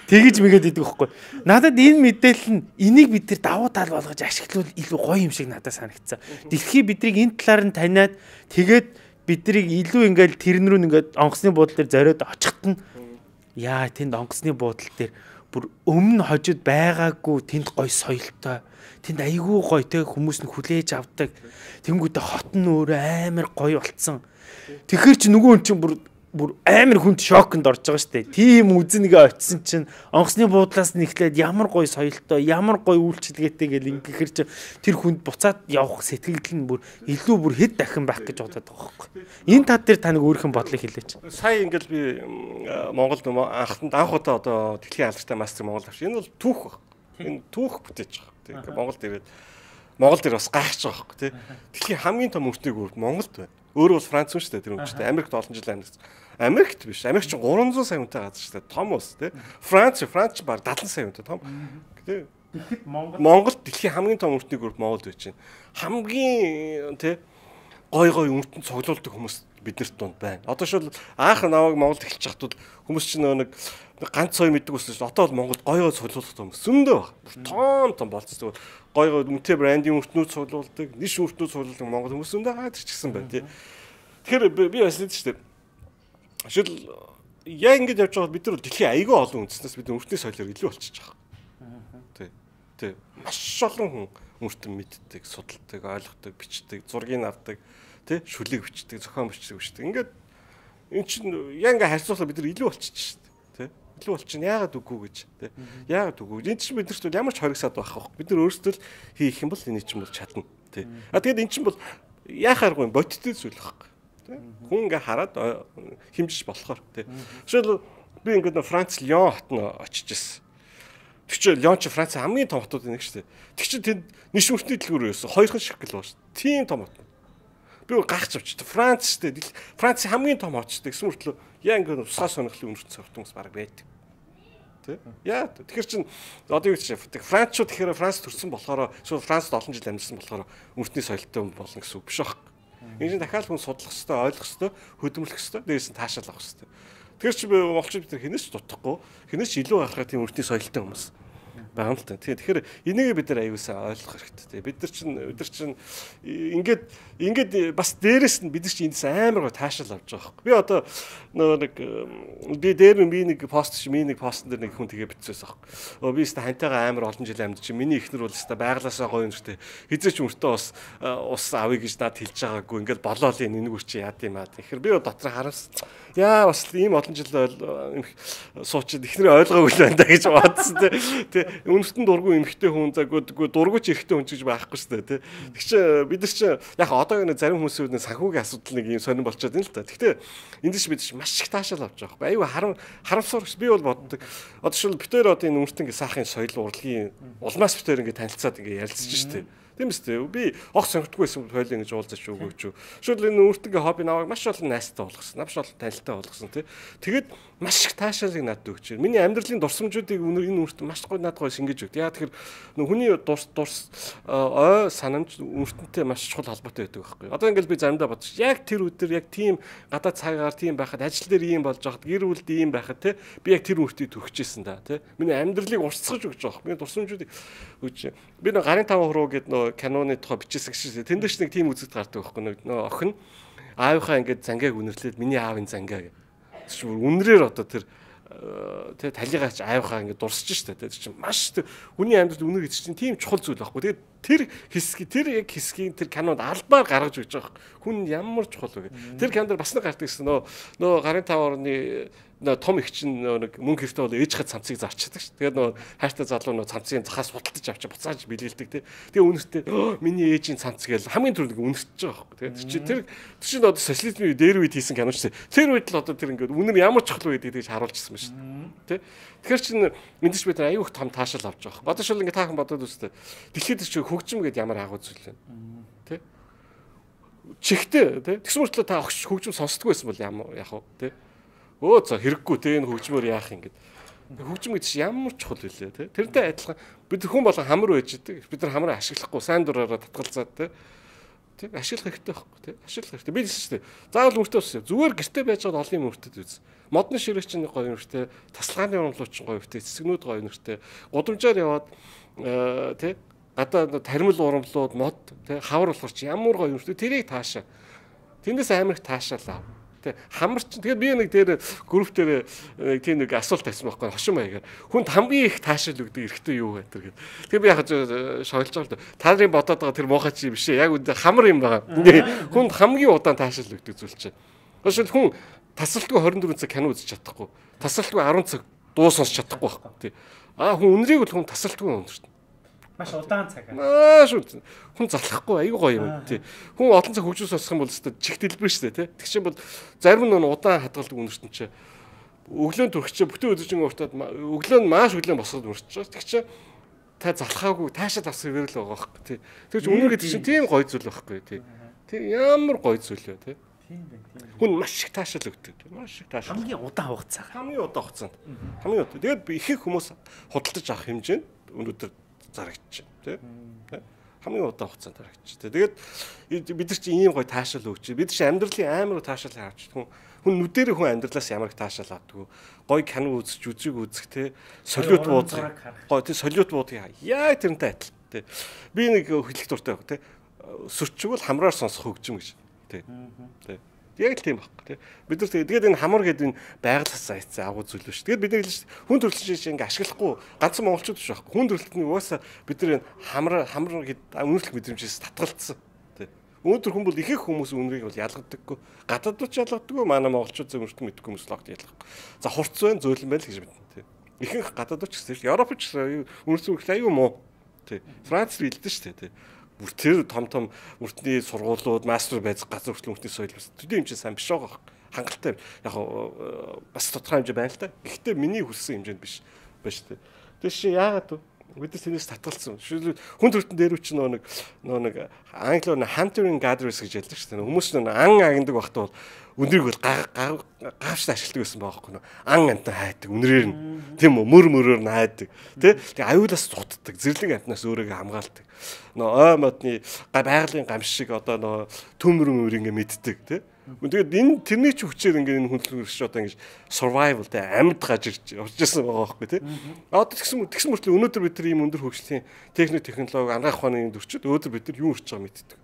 B: Тэгэж мэгээд идэг байхгүй. Надад энэ мэдээлэл нь энийг бид нар давуу тал болгож ашиглавал илүү гоё юм шиг надад санагдсан. Дэлхий бидрийг энэ талаар нь таниад тэгээд бидрийг илүү ингээл тэрнрүү ингээд онгоцны буудлын дээр зориод очихт нь яа тэнд онгоцны буудлын дээр
A: бүр өмнө хожид байгаагүй тэнд гоё соёлтой. Тэнд айгүй гоё те хүмүүс нь хүлээж авдаг. Тэнгүүдээ хот нь өөрөө амар гоё болцсон. Тэгэхээр чи нөгөө хүн чинь бүр амар хүнд шоконд орж байгаа шүү дээ. Тийм үзэнгээ очисон чинь онгоцны буудлаас нэхлээд ямар гоё соёлтой, ямар гоё үйлчилгээтэй гэл ингэхэр чи тэр хүнд буцаад явах сэтгэл нь бүр илүү бүр хэд дахин байх гэж бодоод байгаа байхгүй. Энэ тал дээр таныг өөрийнхөө бодлыг хэлээч.
B: Сая ингээл би Монголд анх удаа одоо дэлхийн алдартай мастер Монгол авч. Энэ бол түүх баг. Энэ түүх бүтээж байгаа. Тийм Монгол дээр бас гайхаж байгаа байхгүй тий. Дэлхийн хамгийн том өртний гүрд Монголд байна. Өөрөө бол Франц шүү дээ тэр өмчтэй. Америкт олон жил амьдсан. Америкт биш. Америк ч 300 сая хүнтэй газар шүү дээ. Том ус тий. Франц баг 70 сая хүнтэй том. Тий.
A: Тэгэхэд
B: Монголд дэлхийн хамгийн том өртний гүрд Монголд байж байна. Хамгийн тий гой өртөнд цуглуулдаг хүмүүс биднэрт дунд байна. Одоо шил анх намайг Монголд эхэлж хахтууд хүмүүс чинь нэг ганц цой мэддэг ус шүү. Одоо бол Монголд гой цуглуулах хүмүүс зөндөө баг. Том болцсон. Гой үнэтэй брендинг өртнүүд цуглуулдаг, ниш өртнүүд цуглуулдаг Монгол хүмүүс зөндөө гайдаж гисэн байна тий. Тэгэхээр би бас л шүү дээ. Шил яа ингэж явж байгаа бид нар дэлхийн аягүй олон үндэснээс бид өртний соёлоор илүү болчихж байгаа. Тий. Маш олон хүн өртөн мэддэг, судалдаг, ойлгодог, бичдэг, зургийг авдаг, тий, шүлэг бичдэг, зохион бичдэг. Ингээд эн чинь яа ингээ харьцуулахад бид нар илүү болчихж шүү дээ. Тий. Илүү болчихно. Яагаад үгүй гэж, тий. Яагаад үгүй. Энд чинь биднэрт бол ямар ч хоригсаад байх вэ? Бид нар өөрсдөө л хийх юм бол энэ чинь бол чадна, тий. Тэгээд эн чинь бол яахааргүй бодиттой зүйл байхгүй. Хүн ингээ хараад хэмжиж болохоор тий. Жишээл би ингээд Франц Лион хот нь очиж ирсэн. Тэг чи Лион чи Франц хамгийн том хотууд нэг шүү дээ. Тэг чи тэнд ниш өртний дэлгүүр байсан. Хоёрхан ширхэг л байна шүү. Тийм том хот. Би гайхаж авчихдээ Франц шүү дээ. Франц хамгийн том хот шүү дээ. Гэсэн мөртлөө яа ингээд усаа сонирхлын өнгөрсөн цогтмос баг байдаг. Тэ? Яа тэгэхээр чин одоо юу гэж Францчууд тэгэхээр Франц төрсэн болохоор эсвэл Францд олон жил амьдсан болохоор өртний соёлтой болно гэсэн үг биш аах. Энэ чинь дахиад хүн судлах хэрэгтэй, ойлгох хэрэгтэй, хөдөлмөрлөх хэрэгтэй, дээрээс нь таашаал авах хэрэгтэй. Тэгэхээр чи монголчууд бид хинээс ч дутахгүй, хинээс ч илүү гарахаа тийм өртний соёлтой хүмүүс байгаа юм л та. Тэгэхээр энийг бид нар аюулсаа ойлгох хэрэгтэй. Бид нар чинь ингээд бас дээрээс нь бид нар чинь эндээс амар гоо таашаал авч байгаа байхгүй. Би одоо нэг би дээр нэг постн дээр нэг хүн тэгээ бичсэн байхгүй. Би өстө хантайгаа амар олон жил амьд чинь миний эхнэр бол өстө байглаасаа гоё юмштэй. Хизээч мөртөө ус авъя гэж надад хэлж байгаагүй. Ингээд болоо л энэ үр чи яад юм аа. Тэгэхээр би дотор харамс. Яа бас ийм олон жил суучид эхнэрээ ойлгоогүй л байна да гэж бодсон тий. Үнэстэн дургүй эмхтэй хүн заггүй дургуйч эрэгтэй хүн гэж байхгүй шүү дээ тий. Тэг чи бид нар чи яг одоо энэ зарим хүмүүсүүд санхүүгийн асуудал нэг юм сонирн болчиход байна л та. Гэхдээ энд чинь бид чинь маш их таашаал авч байгаа байхгүй. Аюу харамсаар би бол боддог. Одоо шил битээр одоо энэ үнэстэн сайхын соёл урлагийн улмаас битээр ингэ танилцаад ингэ ярилцж штэ. Тийм үстэй. Би огт сонгодгүй байсан хойлоо ингэж уулзаж өгөөч. Шүл энэ өөртөө хобби наваг маш олон найстай болгосон. Маш олон танилтай болгосон тий. Тэгээд маш их таашаалыг надад өгч. Миний амьдралын дурсамжуудыг энэ үрт маш гоё надад гоё шингэж өгд. Яа тэгэхээр хүний дурс ой санамж үртэнтэй маш чухал холбоотой байдаг байхгүй. Одоо ингээл би заримдаа бодчих. Яг тэр өдөр яг тийм гадаад цагаар тийм байхад ажил дээр ийм болж байхад гэр бүлд ийм байхад тий. Би яг тэр үртийг төгчжсэн да тий. Миний амьдралыг урсгаж өгч байгаа. Миний дурсамжуудыг өгч. Би нэг гарын 5 хуруу гэдэг нөө киноны тухай бичсэн гэж. Тэндээс нэг тийм үзэгд гардаг байхгүй. Нөө охин аавынхаа ингээд зангааг үнэрлээд миний аавын зангаа гэх. Үнрээр одоо тэр тэгээ талигаач аавынхаа ингээд дурсаж штэ. Тэр чинь маш хүний амьдралд үнэр гэж чинь тийм чухал зүйл байхгүй. Тэгээд тэр яг хэсгийг тэр кинонд албаар гаргаж өгч байгаа. Хүн ямар чухал вэ? Тэр кинонд бас нэг гардаг гэсэн нөө гарын 5 орны том их чинь нэг мөнгө хэрэгтэй бол ээж хад цамцыг зарчдаг ш. Тэгээд хайртай залуу цамцыг захаас худалдаж авч буцааж бэлгэлдэг тий. Тэгээ үнэртэй миний ээжийн цамц гээл хамгийн түрүүнд үнэртэж байгаа хөөе. Тэгээд тэр чинь одоо социализмын дээр үед хийсэн кино ш. Тэр үед л одоо тэр ингээд үнэр ямар чухал байдгийг гэж харуулчихсан ба ш. Тий. Тэгэхээр чинь эндэж бид аюу их том таашаал авч байгаа. Одоо шил ингээд таахан бодоод үстэй. Дэлхийд чи хөгжим гэдээ ямар агуу зүйл вэ? Тий. Чихтэй тий. Тэгс мөртлөө та хөгжим сонсдгүй байсан бол яах вэ? Тий. Өө за хэрэггүй те энэ хөгжмөр яах юм гээд. Хөгжим гэдэг чинь ямар чухал вүлээ те. Тэрнтэй адилхан бид хүн болон хамар байж идэг. Бид нар хамраа ашиглахгүй сайн дураараа татгалзаад те. Тэг ашиглах хэрэгтэй байхгүй те. Ашиглах хэрэгтэй. Би хэлсэн шүү дээ. Заавал мөртөө ус. Зүгээр гэрте байж байгаа олон мөртөд үз. Модны ширэг чинь гоё мөртөө, тасалгааны урамлууч чинь гоё мөртөө, цэцгнүүд гоё мөртөө. Гудамжаар яваад те гадаа тармил урамлууд мод те хавар болохоор чи ямар гоё мөртөө тэрийг таашаа. Тэндээс амар их таашаалаа. Тэ хамарч тэгээд би нэг дээр групп дээр нэг тийм нэг асуулт тавьсан байхгүй хошин маягаар. Хүнд хамгийн их таашаал өгдөг эрэгтэй юу вэ гэдэг. Тэгээд би яг шойлж байгаа л да. Та нарын бодоод байгаа тэр муухай чи биш ээ. Яг үндэ хамар юм байгаа. Хүнд хамгийн удаан таашаал өгдөг зүйл чинь. Өөрөөр хүн тасралтгүй 24 цаг кино үзэж чадахгүй. Тасралтгүй 10 цаг дуу сонсч чадахгүй байхгүй. Тий. Хүн үнэрийг бол хүн тасралтгүй өндөртнө.
A: Маш удаан цаг.
B: Маш удаан. Хүн залхахгүй аюу гоё юм тий. Хүн олон цаг хөгжиж сонсох юм бол өстой чихт дэлбэр шүү дээ тий. Тэг чинь бол зарим нь удаан хадгалдаг өндөртөн чи өглөөнд төрөх чи бүтэн өдөржин уртаад өглөө нь маш өглөө босгоод өрчж байгаа. Тэг чи та залхаагүй таашаа тасах хэрэг л байгаа байхгүй тий. Тэг чи үнэр гэдэг чинь тийм гоё зүйл байхгүй тий. Тэр ямар гоё зүйл вэ тий. Тийм байна. Хүн маш их таашаал өгдөг. Маш их таашаал.
A: Хамгийн удаан хугацаа.
B: Хамгийн удаан хугацаанд. Хамгийн удаан. Тэгээд ихэнх хүмүүс худалдаж авах хэмжээнд өнөөдөр зарагдчих тий. Хамгийн удаан хугацаанд зарагдчих. Тэгээд бид нар чи ийм гоё таашаал өгч. Бид чи амьдралын амар таашаал авч. Хүн нүдэрээ хүн амьдралаас ямар их таашаал авдаг. Гоё кино үзэж үзэг үзэх тий. Солиот буудах. Гоё тий солиот буудах. Яа тэрнтэй адил тий. Би нэг хэлэх дуртай баг тий. Сөрчгөл хамраар сонсох хөгжим гэж. Тий. Яг л тийм баг тий. Бид нар тэгээд энэ хамар гэдэг энэ байгалаас зайцсан агуу зүйл шүү. Тэгээд бид нар хүн төрөлхтөн шиг ингээ ашиглахгүй ганцхан монголчууд биш байхгүй. Хүн төрөлхтний угаасаа бид нар хамар гэдэг үнэрлэх мэдрэмжээс татгалцсан. Тий. Өнөөдөр хүн бол ихэнх хүмүүс үнэрийг бол ялгадаггүй. Гадаадд ч ялгадаггүй. Манай монголчууд зөвөртөн мэдгүй хүмүүс л огт ялгахгүй. За хурц байна, зөөлөн байна л гэж мэднэ тий. Ихэнх гадаадд ч гэсэн Европч үнэр зүрх аюу муу. Тий. Франц хэлдэж шүү дээ тий. Тэр том үртний сургуулиуд мастер байж газар хүртэл үртний соёл бас төдий хэмжээ сайн биш байгаа. Хангалттай яг бас тодорхой хэмжээ байна л та. Гэхдээ миний хүссэн хэмжээнд биш байна шүү дээ. Тэр чи яагаад вэ? Бид нар тэрнээс татгалцсан. Хүн төрөлтөн дээр үуч нэг англиар hunter gatherers гэж ярьдаг шүү дээ. Хүмүүс нэг ан агнадаг багтаа бол үнэрийг бол гавштай ашигладаг байсан байхгүй нөө. Ан амтан хайдаг, үнрээр нь тийм үү, мөрөөр нь хайдаг. Тэг аюулаас цутдаг, зэрлэг амтнаас өөрийгөө хамгаалдаг. Нөө ой модны байгалийн гамш шиг одоо нөө төмөрөн өөр ингэ мэддэг тий. Тэгээд энэ тэрний ч хүчээр ингэ энэ хүндлэгч одоо ингэ survival тий амьд гажирч явчихсан байгаа байхгүй тий. Одоо тэгсэн мөртлөө өнөөдөр бид нар ийм өндөр хөгжлийн технологи анагаах ухааны төрчид өнөөдөр бид нар юу хийж байгааг мэддэг.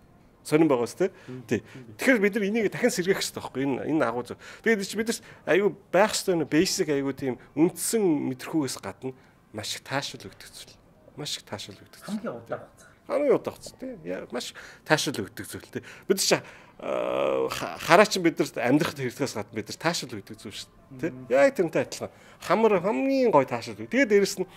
B: Сонирн байгаас тий. Тэгэхээр бид нар энийг дахин сэргээх хэрэгтэй байхгүй энэ агуу зөв. Тэгээд бид нар аюу байх хэрэгтэй basic аюу тийм үндсэн мэдрэхүүгээс гадна маш их таашаал өгдөг зүйл. Маш их таашаал өгдөг.
A: Хамгийн удаан хугацаа.
B: Хамгийн удаан хугацаа тий. Маш таашаал өгдөг зүйл тий. Бид чи хараач бид нарт амьдрах хэрэгтгээс гадна бид нар таашаал өгдөг зүйл шүү дээ тий. Яг тэрнтэй адилхан. Хамар хамгийн гой таашаал өг. Тэгээд дээрэс нь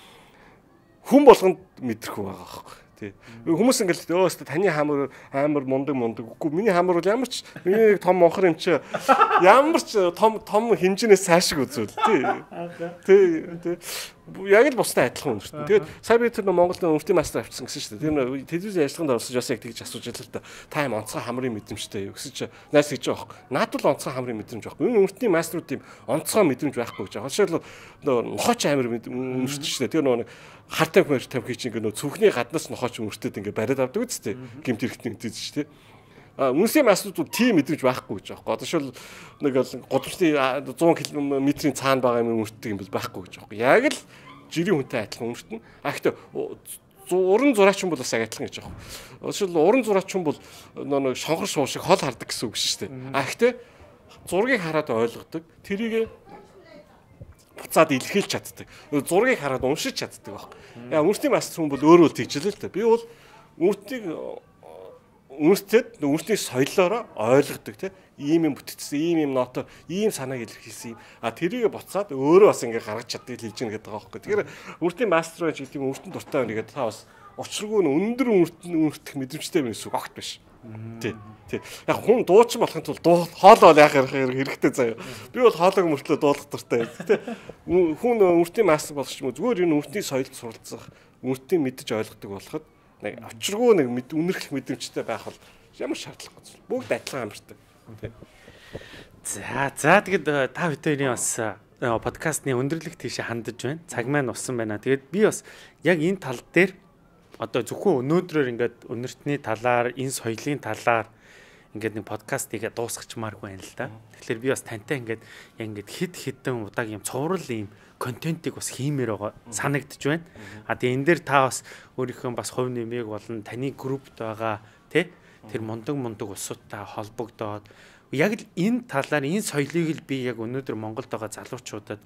B: хүн болгонд мэдрэх байгаа байхгүй. Тий. Хүмүүс ингээл өөстө таны хамар амар мундаг үгүй миний хамар бол ямар ч миний том монхор юм чи ямар ч том хэмжээнээс цаашиг үзвэл тий. Тий. Яг л бусдад адилхан үнэртэн. Тэгээд сая би тэр Монголд өртөө мастер авчихсан гэсэн шүү дээ. Тэр телевизийн ажиллагаанд орсож бас яг тэгж асууж байлаа л да. Та юм онцгой хамрын мэдрэмжтэй юу гэсэн чи найс гэж байгаа байхгүй. Надад л онцгой хамрын мэдрэмж байхгүй. Энэ өртний мастерууд юм онцгой мэдрэмж байхгүй гэж байгаа. Жишээлбэл нохооч амир үнэрч шүү дээ. Тэр нэг хар тамхи чинь ингээ цүнхний гаднаас нохооч үнэртэд ингээ бариад авдаг үстэй. Гимт хэрэгтэн гэдэг шүү дээ. Үнэсийн мастерууд тийм мэдрэмж байхгүй гэж байгаа. Одоо шил нэг годамжны 100 км-ийн цаана байгаа юм үнэртдэг юм бол байхгүй гэж байгаа. Яг л жирийн хүнтэй адилхан үнэртэн. Гэхдээ уран зураачин бол бас адилхан гэж байгаа. Шил уран зураачин бол нэг шонхор шуу шиг хол хардаг гэсэн үг шүү дээ. Гэхдээ зургийг хараад ойлгодог. Тэрийг буцаад илэрхийлж чаддаг. Зургийг хараад уншиж чаддаг баг. Яа үнэртний мастер хүн бол өөрөө тэгжлээ л дээ. Би бол үнэртэд үнэртний соёлоороо ойлгодог тийм ийм юм бүтцсэн ийм юм ноото ийм санааг илэрхийлсэн юм тэрийг буцаад өөрөө бас ингээ гаргаж чаддаг хэлж гэнэ гэдэг байгаа байхгүй. Тэгэхээр үнэртний мастер байж гэдэг юм үнэртэн дуртай байна гэдэг та бас учиргүй өндөр үнэртэх мэдрэмжтэй байна гэсэн үг огт биш. Тий. Яг хүн дуучин болохын тулд хоолоо яах хэрэгтэй заяа. Би бол хоолойг мөртлөө дуулах дуртай. Тий. Хүн үнэртний мастер болох ч юм уу зүгээр энэ үнэртний соёлд суралцах, үнэртний мэдж ойлгодог болоход нэг очиргүй нэг үнэрхэх мэдрэмжтэй байх бол ямар шаардлагагүй зүйл. Бүгд адилхан амартай.
A: За тэгэд та бүхэн бас подкастны өндөрлөх тийшээ хандаж байна. Цаг маань усан байна. Тэгээд би бас яг энэ тал дээр одоо зөвхөн өнөөдрөөр ингээд өнөртний талаар, энэ соёлын талаар ингээд нэг подкастыг дуусгачмааргүй байна л да. Тэгэхээр би бас тантай ингээд яг ингээд хидэн удааг юм цуврал юм контентыг бас хиймээр байгаа санагдж байна. Тэгээ энэ дээр та бас өөрийнхөө бас хувь нэмийг болон таны группт байгаа тий тэр мундаг улсуудтай холбогдоод яг л энэ талаар энэ соёлыг л би яг өнөөдөр Монголд байгаа залуучуудад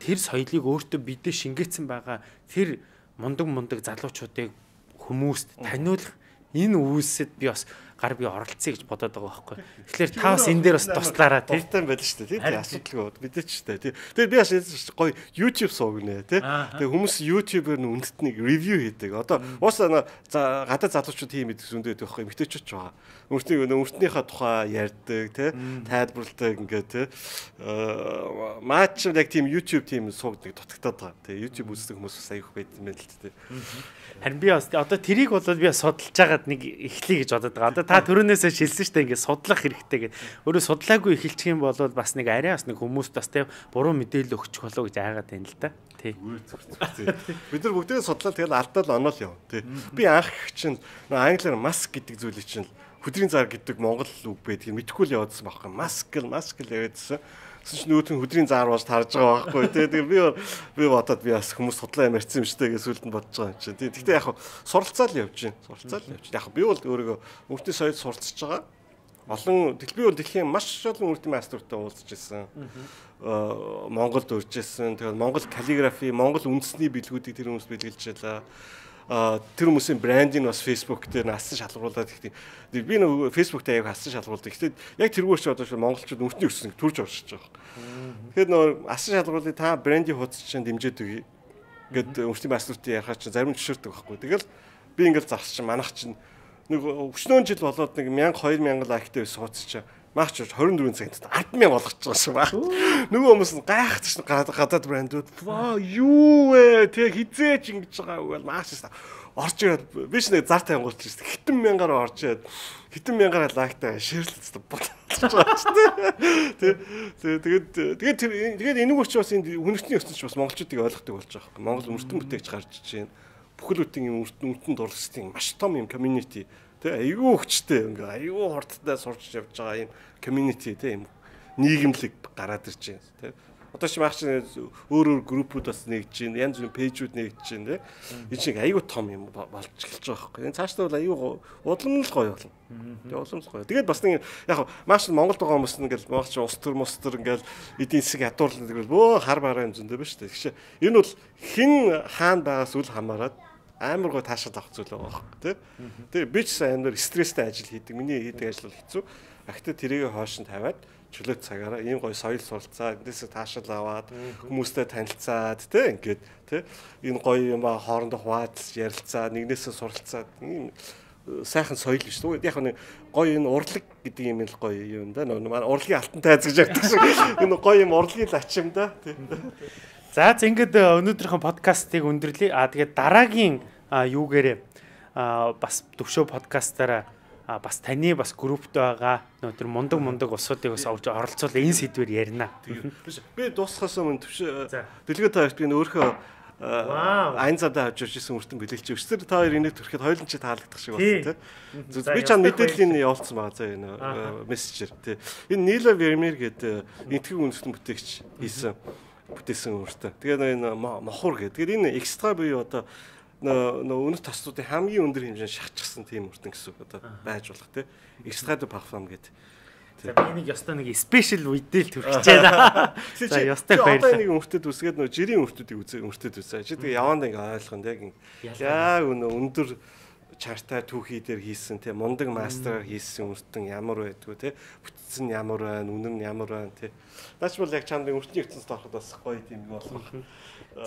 A: тэр соёлыг өөртөө бидээ шингээсэн байгаа тэр мундаг залуучуудыг хүмүүст таниулах энэ үйлсэд би бас гар би оролцъё гэж бодоод байгаа байхгүй. Тэгэхээр та бас энэ дээр бас туслаараа тий.
B: Дуртай байл шүү дээ. Тийм асуудалгүй мэдээч шүү дээ. Тэгээд би бас гоё YouTube суугнэ тий. Тэгээд хүмүүс YouTube-ээр үндэт нэг ревю хийдэг. Одоо уусаа гадаад залуучууд тийм мэддэг зөндөөд байхгүй эмгтээчүүд ч байгаа. Өөртнийхээ тухай ярьдаг тий. Тайлбарладаг ингээд тий. Маач яг тийм YouTube тийм суугдаг дутагтаад байгаа. Тэгээ YouTube үздэг хүмүүс бас аяах байт юм байна л тий.
A: Харин би бас одоо тэрийг бол би судалж байгаад нэг эхлэе гэж бодоод байгаа. Одоо та түрүүнээсээ шилсэн шүү дээ ингээд судлах хэрэгтэй гэдэг. Өөрөө судлаагүй эхэлчих юм бол бас нэг арай бас нэг хүмүүст бас тийм буруу мэдээлэл өгчих болов гэж айгаад байна л да. Тий.
B: Бид нар бүгдээ судлаад тэгэл алдаал оноол яв. Тий. Би анх чинь англиар маск гэдэг зүйлийг чинь хөдрийн зар гэдэг монгол үг байдгийг мэдэхгүй л яваадсан байхгүй. Маск яваадсан. Тэсч нүүтэн хөдрийн зар болж тарж байгаа байхгүй тий. Тэгээ би бодоод би бас хүмүүс судлаа ямарчсан юм штэ гэж сүлд нь бодож байгаа юм чинь. Тий. Гэхдээ яг суралцаа л явж байна. Яг би бол өөрийгөө өвчтний соёлд суралцж байгаа. Би бол дэлхийн маш олон өвчтний мастертай уулзж ирсэн. Монголд урьж ирсэн. Тэгээд Монгол каллиграфи, Монгол үндэсний бэлгүүдийг тэр хүмүүс бэлгэлж байлаа. Тэр хүмүүсийн брендинг бас Facebook дээр насан шалгуулад ихтэй. Би нэг Facebook дээр аяг хасан шалгуулдаг. Гэхдээ яг тэргүүрч одоо монголчууд өвчтний өссөн төрж оршиж байгаа. Тэгэхээр нөө асан шалгуулыг та брендинг хуудас чинь дэмжиж өгье. Ингээд өвчтний мастертай ярихаа чинь зарим зөвшөөрдөг байхгүй. Тэгэл би ингээд зарч чинь манах чинь нэг өчнөө жил болоод нэг 1000-2000 лайктай байсан хуудас чинь маач 24 цагт 100000 болгож байгаа шүү баг. Нөгөө хүмүүс нь гайхаж гадаад брэндүүд ваа юу вэ? Тэг хизээч ингэж байгаа үг бол маач орж ирээд биш нэг зар тангуулж ирсэн. Хитэн мянгаар орж ирээд хитэн мянгаар лайктай шеэрлэлцтэй болчихж байгаа ч тэгээд энийг ч бас энэ үнэртний өссөн ч бас монголчуудыг ойлгохдаг болж байгаа юм. Монгол үнэртэн бүтээгч гарч иж байна. Бүхэл бүтэн үнэртэн дурлалцын маш том юм community айгүй хүчтэй ингээ айгүй хурдтай сурч явж байгаа юм community тийм нийгэмлэг гараад ирж байна тийм одоо чи маач өөр группүүд бас нэгж байна янз бүрийн пэйжүүд нэгж байна тийм энэ шиг айгүй том юм болж эхэлж байгаа байхгүй энэ цаашдаа бол айгүй уламжлал гоё болно тийм уламжлал гоё тэгээд бас нэг яг маач Монголд байгаа хүмүүс ингээл маач ус төр ингээл эдийн засаг ядуурлал тэгэл хар бараа юм зөндөө ба шүү дээ тэгэхээр энэ бол хэн хаана байгаас үл хамааран амар гоо таашаал авах зүйл байгаа байхгүй тий. Тэгээ би ч амар стресстэй ажил хийдэг. Миний хийдэг ажил бол хэцүү. Ахтай тэрийг хоош нь тавиад чөлөөт цагаараа ийм гоё соёл суралцаа, эндээсээ таашаал аваад хүмүүстэй танилцаад тий ингээд тий энэ гоё юм хоорондоо хуваалцаж ярилцаад нэгнээсээ суралцаад ийм сайхан соёл биш үү? Яг нэг гоё энэ урлаг гэдэг юм л гоё юм да. Манай урлагийн алтан тайз гэж яддаг шиг энэ гоё юм урлагийн лачим да тий.
A: За ингээд өнөөдрийнхөө подкастыг өндөрлөе. Тэгээд дараагийн юугээрээ бас төвшөө подкастаараа бас таны бас групптэй байгаа өнөөдөр мундаг усуудыг бас оролцуул энэ сэдвээр ярина.
B: Би дуусахаас өмнө төвшөө дэлгөө таарч би өөрөө айн цадаа авч ирсэн үртэн бэлгэлж өгч. Тэр та хоёр энийг төрөхөд хоёулын чи таалагдах шиг байна тий. Би чам мэдээллийн явуулсан байгаа заа энэ мессежээр тий. Энэ Нила Вермер гэдэг энтгэн үндэстэн бүтээгч хийсэн бүтээсэн өөртөө. Тэгээд энэ мохор гэдэг. Тэгээд энэ экстра буюу одоо өнөр таслуудын хамгийн өндөр хэмжээнд шахчихсан тийм өртөн гэсэн үг одоо байж болох тийм. Экстра парфюм гэдэг.
A: За би нэг ёстой нэг спешиал үедэл төрчих байна. За ёстой баярлалаа.
B: Одоо нэг өртөд үсгээд нөө жирийн өртөдийг өртөд үсээ. Чи тэгээ яванд ингээ ойлгоно яг өндөр чарта түүхий дээр хийсэн тийм мундаг мастераар хийсэн өртөн ямар байдгүй тийм бүтцэн ямар байна үнэн ямар байна тийм наач бол яг чамд өртний ертөнцид ороход бас гоё тийм юм болох.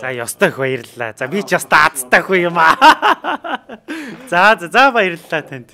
A: За ёстой баярлалаа. За би ч ёстой азтай хүү юм аа. За баярлалаа танд.